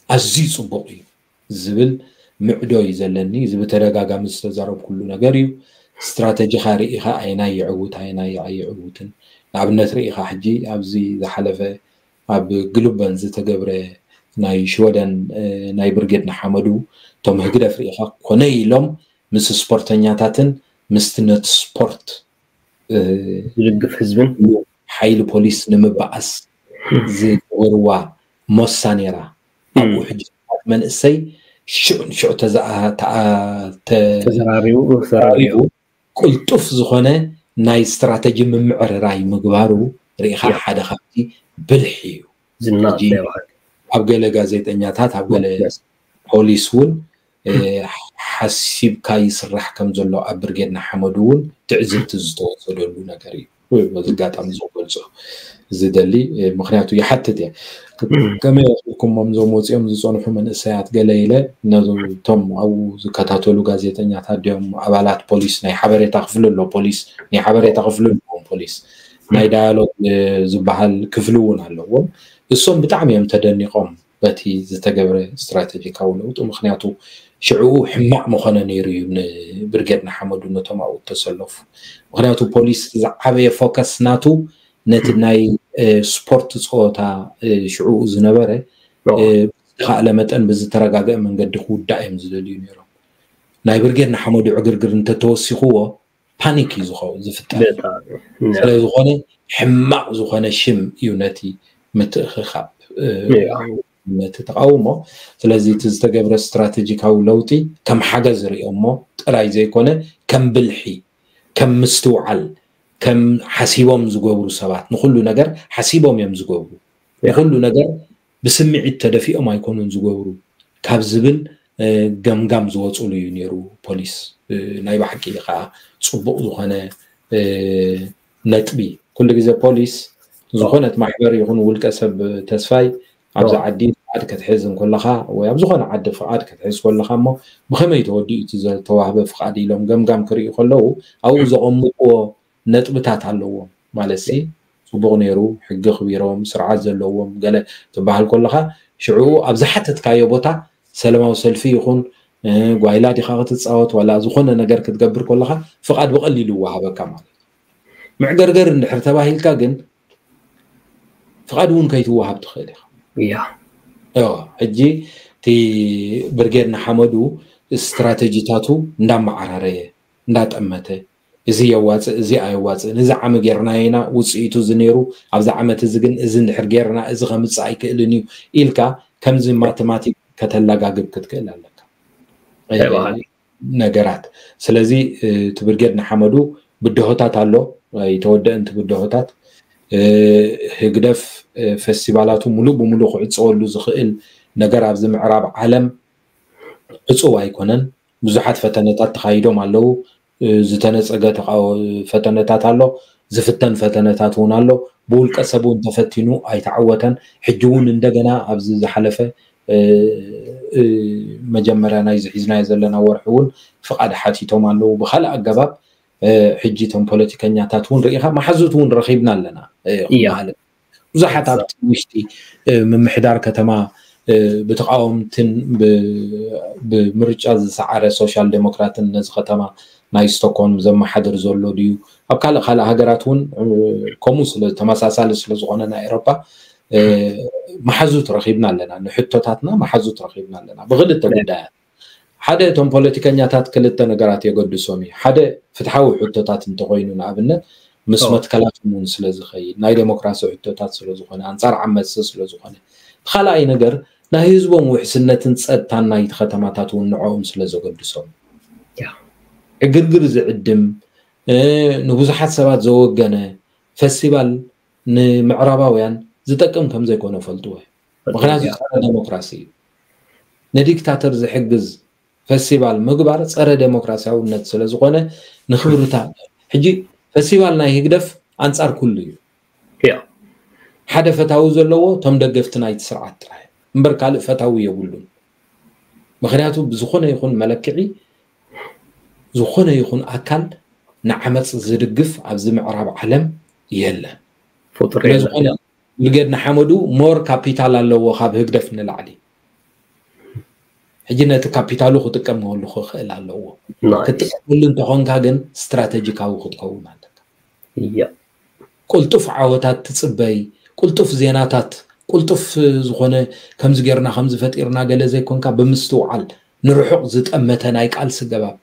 ኣዝዩ ፅቡቕ እዩ ዝብል ምዕዶ እዩ ዘለኒ። እዚ ብተደጋጋሚ ዝተዛረብኩሉ ነገር እዩ። ስትራተጂኻ ርኢኻ ኣየናይ የዕውት ኣየናይ ኣይዕውትን። ንኣብነት ርኢኻ ሕጂ ኣብዚ ዝሓለፈ ኣብ ግሉበን ዝተገብረ ናይ ሽወደን ናይ ብርጌድ ንሓመዱ እቶም ህግደፍ ርኢኻ ኮነ ኢሎም ምስ ስፖርተኛታትን ምስቲ ነቲ ስፖርት ዝድግፍ ህዝብን ሓይሊ ፖሊስ ንምበኣስ ዝገበርዋ ሞሳ ነይራ። ኣብኡ ሕጂ መንእሰይ ሽዑ ንሽዑ ተዘራሪቡ ቅልጡፍ ዝኾነ ናይ ስትራተጂ ምምዕርራይ ምግባሩ ርኢኻ ሓደ ካብቲ ብልሒ እዩ። ኣብ ገለ ጋዜጠኛታት ኣብ ገለ ፖሊስ እውን ሓሲብካ ይስራሕ ከም ዘሎ ኣብ ብርጌድ ንሓመዱ እውን ትዕዝብቲ ዝተወሰደሉ ነገር እዩ። በዚ ኣጋጣሚ እዚ ክገልፆ ዝደሊ ምክንያቱ ይሓትት እየ። ከመይ ኣኽልኩሞም እዞም ወፂኦም ዝፀንሑ መንእሰያት ገለ ኢለ ነቶም ኣብኡ ዝከታተሉ ጋዜጠኛታት ድዮም ኣባላት ፖሊስ ናይ ሓበሬታ ክፍሊ ኣሎ ፖሊስ ናይ ሓበሬታ ክፍሊ ኣለዎም ፖሊስ ናይ ዳያሎግ ዝበሃል ክፍሊ እውን ኣለዎም። እሶም ብጣዕሚ እዮም ተደኒቖም በቲ ዝተገብረ ስትራተጂካዊ ለውጢ ምክንያቱ ሽዕኡ ሕማቕ መኾነ ነይሩ እዩ ንብርጌድ ንሓመዱ ነቶም ኣብኡ ተሰለፉ። ምክንያቱ ፖሊስ ዝዓበየ ፎከስ ናቱ ነቲ ናይ ስፖርት ፀወታ ሽዕኡ ዝነበረ ብዝተኻእለ መጠን ብዝተረጋገአ መንገዲ ክውዳእ እዮም ዝደልዩ ነይሮም። ናይ ብርጌድ ንሓመዱ ዕግርግር እንተተወሲኽዎ ፓኒክ እዩ ዝኸውን ዝፍጠር። ስለዝኾነ ሕማቕ ዝኾነ ሽም እዩ ነቲ ምትእኽኻብ ነቲ ተቃውሞ። ስለዚ እቲ ዝተገብረ ስትራተጂካዊ ለውጢ ከም ሓገዝ ርእዮሞ ጥራይ ዘይኮነ ከም ብልሒ ከም ምስትውዓል ከም ሓሲቦም ዝገብሩ ሰባት ንኩሉ ነገር ሓሲቦም እዮም ዝገብሩ። ንኩሉ ነገር ብስምዒት ተደፊኦም ኣይኮኑን ዝገብሩ ካብ ዝብል ገምጋም ዝወፅሉ እዩ ነይሩ ፖሊስ። ናይ ብሓቂ ከዓ ፅቡቕ ዝኾነ ነጥቢ ኩሉ ግዜ ፖሊስ ዝኾነት ማሕበር ይኹን ውልቀ ሰብ ተስፋይ ኣብዚ ዓዲ ፍቃድ ክትሕዝ እንከለኻ ወይ ኣብ ዝኾነ ዓዲ ፍቃድ ክትሕዝ ከለኻ እሞ ብኸመይ ተወዲኡ እቲ ዝተዋህበ ፍቃድ ኢሎም ገምጋም ክርእዩ ከለዉ ኣብኡ ዘቐምጥዎ ነጥብታት ኣለዎም ማለት ሲ ፅቡቕ ነይሩ ሕጊ ክቢሮም ስርዓት ዘለዎም ገለ ትበሃል ከለኻ ሽዕኡ ኣብ ዝሓተትካዮ ቦታ ሰለማዊ ሰልፊ ይኹን ጓይላ ዲኻ ክትፃወት ዋላ ዝኾነ ነገር ክትገብር ከለኻ ፍቃድ ብቐሊሉ ይወሃበካ ማለት እዩ። መዕገርገር እንድሕር ተባሂልካ ግን ፍቃድ እውን ከይትወሃብ ትኽእል ኢኻ። ያ ሕጂ እቲ ብርጌድ ንሓመዱ ስትራተጂታቱ እንዳመዓራረየ እንዳጠመተ እዚ የዋፅእ እዚ ኣየዋፅእን እዚ ዓሚ ጌርናዮ ኢና ውፅኢቱ እዚ ነይሩ ኣብዚ ዓመት እዚ ግን እዚ እንድሕር ጌርና እዚ ከምፅእ ኣይክእልን እዩ ኢልካ ከምዚ ማተማቲክ ከተላጋግብ ክትክእል ኣለካ። ነገራት ስለዚ እቲ ብርጌድ ንሓመዱ ብድሆታት ኣሎ ኣይተወደእን እቲ ብድሆታት ህግደፍ ፈስቲቫላቱ ሙሉእ ብሙሉእ ክዕፀወሉ ዝኽእል ነገር ኣብዚ ምዕራብ ዓለም ዕፁው ኣይኮነን። ብዙሓት ፈተነታት ተኻይዶም ኣለዉ። ዝተነፀገ ፈተነታት ኣሎ፣ ዝፍተን ፈተነታት እውን ኣሎ። ብውልቀ ሰብ እውን ተፈቲኑ ኣይተዓወተን። ሕጂ እውን እንደገና ኣብዚ ዝሓለፈ መጀመርያ ናይዚ ሒዝናዮ ዘለና ወርሒ እውን ፍቓድ ሓቲቶም ኣለዉ። ብካልእ ኣገባብ ሕጂ እቶም ፖለቲከኛታት እውን ርኢኻ መሓዙት እውን ረኺብና ኣለና ማለት ብዙሓት ኣብቲ ውሽጢ ምምሕዳር ከተማ ብተቃወምትን ብምርጫ ዝሰዓረ ሶሻል ዴሞክራትን ነዚ ከተማ ናይ ስቶክሆልም ዘመሓድር ዘሎ ድዩ? ኣብ ካልእ ካልእ ሃገራት እውን ከምኡ ስለ ተመሳሳሊ ስለ ዝኾነ ናይ ኤሮፓ መሓዙት ረኺብና ኣለና። ንሕቶታትና መሓዙት ረኺብና ኣለና ብክልተ ጉዳያት። ሓደ እቶም ፖለቲከኛታት ክልተ ነገራት የገድሶም እዩ። ሓደ ፍትሓዊ ሕቶታት እንተኮይኑ ንኣብነት ምስ መትከላቶም እውን ስለ ዝኸይድ ናይ ዴሞክራሲ ሕቶታት ስለ ዝኾነ ኣንፃር ዓመፅቲ ስለ ዝኾነ፣ እቲ ካልኣይ ነገር ናይ ህዝቦም ውሕስነትን ፀጥታን ናይቲ ከተማታት እውን ንዕኦም ስለ ዘገድሶም ዕግርግር ዝዕድም ንብዙሓት ሰባት ዘወገነ ፈስቲቫል ንምዕራባውያን ዝጠቅም ከም ዘይኮነ ፈልጥዎ። ምክንያቱ ጸረ ዴሞክራሲ እዩ። ንዲክታተር ዝሕግዝ ፈስቲቫል ምግባር ጸረ ዴሞክራሲያውነት ስለ ዝኾነ ንክብርታ ሕጂ ፈስቲቫል ናይ ህግደፍ ኣንጻር ኩሉ እዩ። ሓደ ፈታዊ ዘለዎ እቶም ደገፍቲ ናይቲ ስርዓት ጥራይ እምበር ካልእ ፈታዊ የብሉን። ምክንያቱ ብዝኾነ ይኹን መለክዒ ዝኾነ ይኹን ኣካል ንዓመፅ ዝድግፍ ኣብዚ ምዕራብ ዓለም የለን። ስለዝኾነ ብርጌድ ንሓመዱ ሞር ካፒታል ኣለዎ ካብ ህግደፍ ንላዕሊ። ሕጂ ነቲ ካፒታሉ ክጥቀመሉ ክኽእል ኣለዎ። ክትጥቀመሉ እንተኾንካ ግን ስትራቴጂካዊ ክትከውን ኣለካ። ቅልጡፍ ዓወታት ትፅበይ፣ ቅልጡፍ ዜናታት፣ ቅልጡፍ ዝኾነ ከምዚ ጌርና ከምዚ ፈጢርና ገለ ዘይኮንካ ብምስትውዓል ንርሑቕ ዝጠመተ ናይ ቃልሲ ገባብ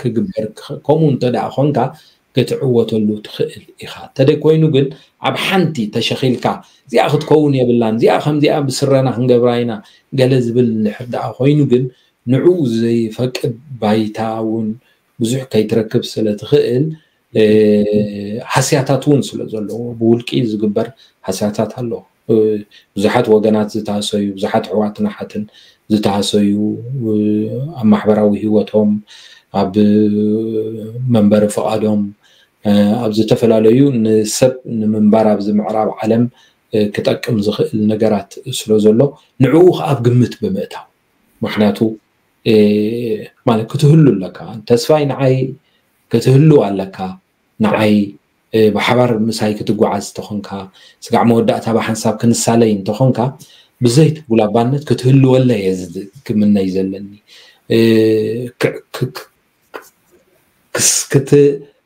ክግበር ከምኡ እንተ ደኣ ኾንካ ክትዕወተሉ ትኽእል ኢኻ። ተደይ ኮይኑ ግን ኣብ ሓንቲ ተሸኺልካ እዚኣ ክትከውን የብላን እዚኣ ከምዚኣ ብስረና ክንገብራ ኢና ገለ ዝብል እንድሕር ደኣ ኮይኑ ግን ንዕኡ ዘይፈቅድ ባይታ እውን ብዙሕ ከይትረክብ ስለ ትኽእል ሃስያታት እውን ስለ ዘለዎ ብውልቂ ዝግበር ሃስያታት ኣሎ። ብዙሓት ወገናት ዝተሃሰዩ ብዙሓት ኣሕዋትን ኣሓትን ዝተሃሰዩ ኣብ ማሕበራዊ ህይወቶም ኣብ መንበሪ ፍቓዶም ኣብ ዝተፈላለዩ ንሰብ ንምንባር ኣብዚ ምዕራብ ዓለም ክጠቅም ዝኽእል ነገራት ስለ ዘሎ ንዕኡ ኣብ ግምት ብምእታው ምክንያቱ ማለት ክትህሉ ኣለካ ተስፋይ ንዓይ ክትህሉ ኣለካ ንዓይ ብሓባር ምሳይ ክትጓዓዝ እንተኾንካ ስጋዕ መወዳእታ ብሓንሳብ ክንሳለይ እንተኾንካ ብዘይቲ ጉላባነት ክትህልወለ እየ ክምነይ ዘለኒ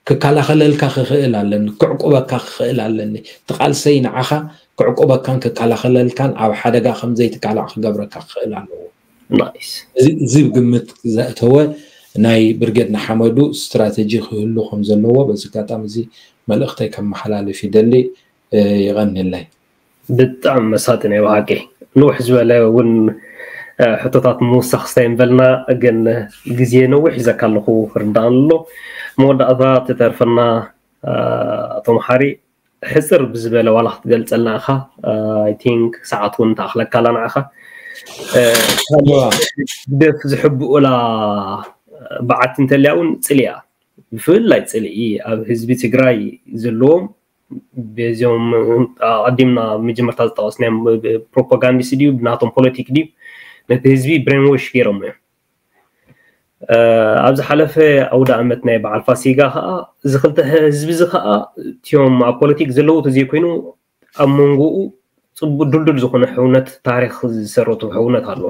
ክከላኸለልካ ክኽእል ኣለኒ ክዕቁበካ ክኽእል ኣለኒ ትቃልሰይ ንዓኻ ክዕቁበካን ክከላኸለልካን ኣብ ሓደጋ ከምዘይትቃላዕ ክገብረካ ክኽእል ኣለዎ እዚ ግምት ዘእተወ ናይ ብርጌድ ንሓመዱ ስትራተጂ ክህሉ ከም ዘለዎ በዚ ኣጋጣሚ እዚ መልእኽተይ ከመሓላልፍ ይደሊ። የቐንየለይ። ብጣዕሚ መሳጢ ናይ ብሓቂ ንውሕ ዝበለ እውን ሕቶታት ምውሳኽ ስታይ እንበልና ግን ግዜ ነዊሕ ሒዘካ ኣለኹ ርዳእን ኣሎ መወዳእታ ትተርፈና ኣቶ መሓሪ ሕፅር ብዝበለ ዋላ ክትገልፀልና ኢኻ I think ሰዓት እውን ተኣኽለካ ኣላ ንዓኻ ግደፍ ዝሕብኡላ በዓቲ እንተልያ እውን ፅልያ ብፍላይ ፅልኢ ኣብ ህዝቢ ትግራይ ዘለዎም በዚኦም ኣቐዲምና መጀመርታ ዝጠቐስናዮም ፕሮፓጋንዲስት ድዩ ብናቶም ፖለቲክ ድዩ ነቲ ህዝቢ ብሬንዎሽ ገይሮም እዮም ኣብ ዝሓለፈ ኣውደ ኣመት ናይ በዓል ፋሲጋ ከዓ እዚ ክልተ ህዝቢ እዚ ከዓ እቲኦም ኣብ ፖለቲክ ዘለዉ ተዘይኮይኑ ኣብ መንጎኡ ፅቡቅ ድልዱል ዝኾነ ሕውነት ታሪክ ዝሰረቱ ሕውነት ኣሎ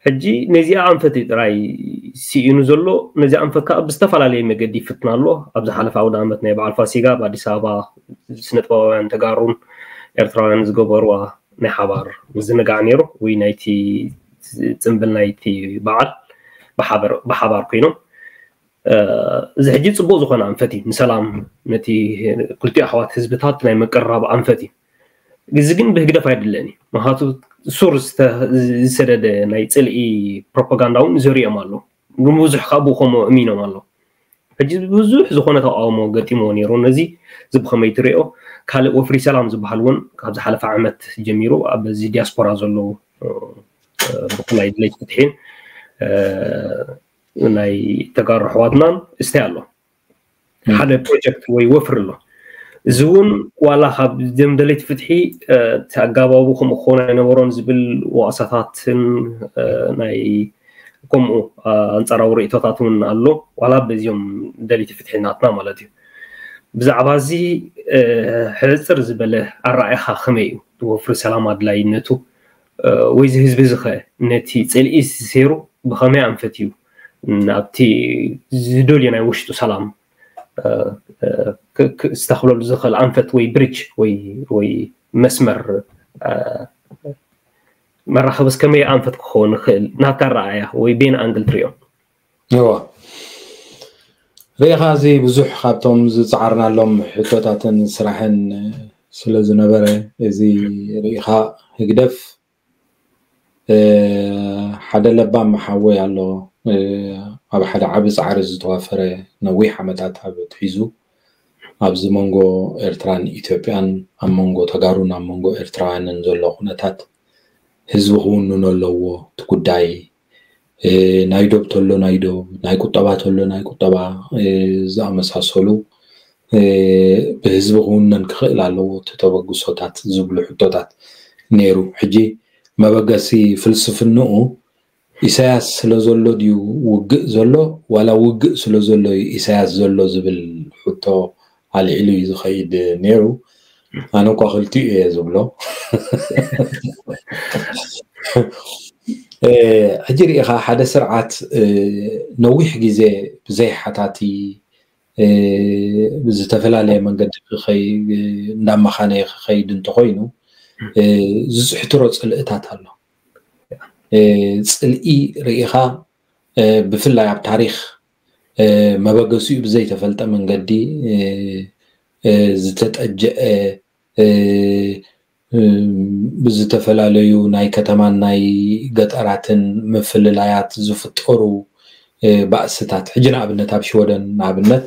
ሕጂ ነዚኣ ኣንፈት እዩ ጥራይ ስኢኑ ዘሎ ነዚ ኣንፈት ከዓ ብዝተፈላለየ መገዲ ይፍትና ኣሎ ኣብ ዝሓለፈ ኣውደ ኣመት ናይ በዓል ፋሲጋ ኣብ ኣዲስ ኣበባ ስነጥበባውያን ተጋሩን ኤርትራውያን ዝገበርዋ ናይ ሓባር ምዝንጋዕ ነይሩ ወይ ናይቲ ፅምብል ናይቲ በዓል ብሓባር ኮይኖም እዚ ሕጂ ፅቡቅ ዝኾነ ኣንፈት እዩ ንሰላም ነቲ ክልቲኡ ኣሕዋት ህዝብታት ናይ ምቅርራብ ኣንፈት እዩ እዚ ግን ብህግደፍ ኣይድለን እዩ ምክንያቱ ሱር ዝሰደደ ናይ ፅልኢ ፕሮፓጋንዳ እውን ዘሪኦም ኣሎ ንብዙሕ ካብ ከምኡ እሚኖም ኣሎ ሕጂ ብዙሕ ዝኾነ ተቃውሞ ገጢምዎ ነይሩ። ነዚ እዚ ብኸመይ ትሪኦ? ካልእ ወፍሪ ሰላም ዝበሃል እውን ካብ ዝሓለፈ ዓመት ጀሚሩ ኣብዚ ዲያስፖራ ዘለዉ ብፍላይ ድሌት ፍትሒን ናይ ተጋሩ ኣሕዋትናን እስታይ ኣሎ ሓደ ፕሮጀክት ወይ ወፍሪ ኣሎ። እዚ እውን ዋላ ካብ ደም ደለይቲ ፍትሒ እቲ ኣጋባቡ ከምኡ ክኸውን ኣይነበሮን ዝብል ወቐሳታትን ናይ ከምኡ ኣንጻራዊ ርእይቶታት እውን ኣሎ። ዋላ በዚኦም ደለይቲ ፍትሒ ናትና ማለት እዩ። ብዛዕባ እዚ ሕጽር ዝበለ ኣረኣእያኻ ከመይ እዩ? ወፍሪ ሰላም ኣድላይነቱ ወይ እዚ ህዝቢ እዚ ኸ ነቲ ጽልኢ እዚ ሰይሩ ብኸመይ ኣንፈት እዩ ናብቲ ዝደልዮ ናይ ውሽጡ ሰላም ክስተኽለሉ ዝኽእል ኣንፈት ወይ ብሪጅ ወይ መስመር መራኸብስ ከመይ ኣንፈት ክኸውን ይኽእል ናብታ ኣረኣእያ ወይ ቤን ኣንግል ትሪኦ? እዋ ርኢኻ እዚ ብዙሕ ካብቶም ዝፀዓርናሎም ሕቶታትን ስራሕን ስለ ዝነበረ እዚ ርኢኻ ህግደፍ ሓደ ለባም ሓወይ ኣሎ ኣብ ሓደ ዓቢ ፃዕሪ ዝተዋፈረ ነዊሕ ዓመታት ኣብ ትሒዙ ኣብዚ መንጎ ኤርትራን ኢትዮጵያን ኣብ መንጎ ተጋሩን ኣብ መንጎ ኤርትራውያንን ዘሎ ኩነታት ህዝቢ ክውንኖ ኣለዎ እቲ ጉዳይ ናይ ዶብ ተሎ ናይ ዶብ ናይ ቁጠባ ተሎ ናይ ቁጠባ ዝኣመሳሰሉ ብህዝቢ ክውነን ክኽእል ኣለዎ እቲ ተበግሶታት ዝብሉ ሕቶታት ነይሩ። ሕጂ መበገሲ ፍልስፍንኡ ኢሳያስ ስለ ዘሎ ድዩ ውግእ ዘሎ ዋላ ውግእ ስለ ዘሎ እዩ ኢሳያስ ዘሎ ዝብል ሕቶ ኣልዒሉ እዩ ዝኸይድ ነይሩ። ኣነ እኳ ክልቲኡ እየ ዝብሎ። ሕጂ ርኢኻ ሓደ ስርዓት ነዊሕ ግዜ ብዘይ ሓታቲ ብዝተፈላለየ መንገዲ እንዳመኻነየ ክኸይድ እንተኮይኑ ዝፅሕትሮ ፅልእታት ኣሎ። ፅልኢ ርኢኻ ብፍላይ ኣብ ታሪክ መበገሲኡ ብዘይተፈልጠ መንገዲ ዝተጠጀአ ብዝተፈላለዩ ናይ ከተማን ናይ ገጠራትን ምፍልላያት ዝፍጠሩ ባእስታት ሕጂ ንኣብነት ኣብ ሽወደን ንኣብነት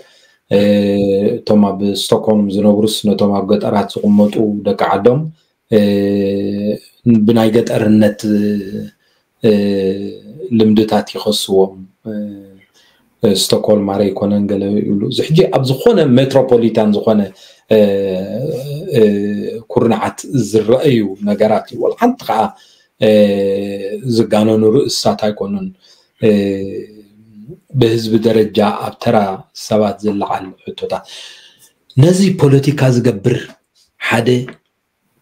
እቶም ኣብ ስቶክሆልም ዝነብሩስ ነቶም ኣብ ገጠራት ዝቕመጡ ደቂ ዓዶም ብናይ ገጠርነት ልምድታት ይኸስዎም። ስቶክሆልም ኣረ ኣይኮነን ገለ ይብሉ እዚ ሕጂ ኣብ ዝኾነ ሜትሮፖሊታን ዝኾነ ኩርናዓት ዝረኣዩ ነገራት እዩ። ሓንቲ ከዓ ዝጋነኑ ርእስታት ኣይኮኑን። ብህዝቢ ደረጃ ኣብ ተራ ሰባት ዝለዓል ሕቶታት ነዚ ፖለቲካ ዝገብር ሓደ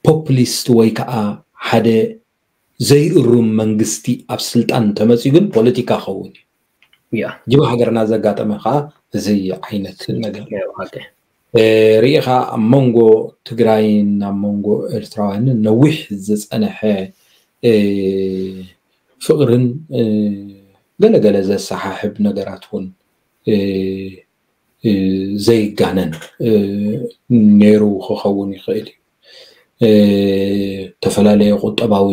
ፖፕሊስት ወይ ከዓ ሓደ ዘይእሩም መንግስቲ ኣብ ስልጣን እንተመፅኡ ግን ፖለቲካ ክኸውን እዩ። ጅባ ሃገርና ዘጋጠመ ከዓ እዚ ዓይነት ነገር ርኢኻ ኣብ መንጎ ትግራይን ኣብ መንጎ ኤርትራውያንን ነዊሕ ዝፀነሐ ፍቕርን ገለገለ ዘሰሓሕብ ነገራት እውን ዘይጋነን ነይሩ ክኸውን ይኽእል እዩ። ዝተፈላለየ ቁጠባዊ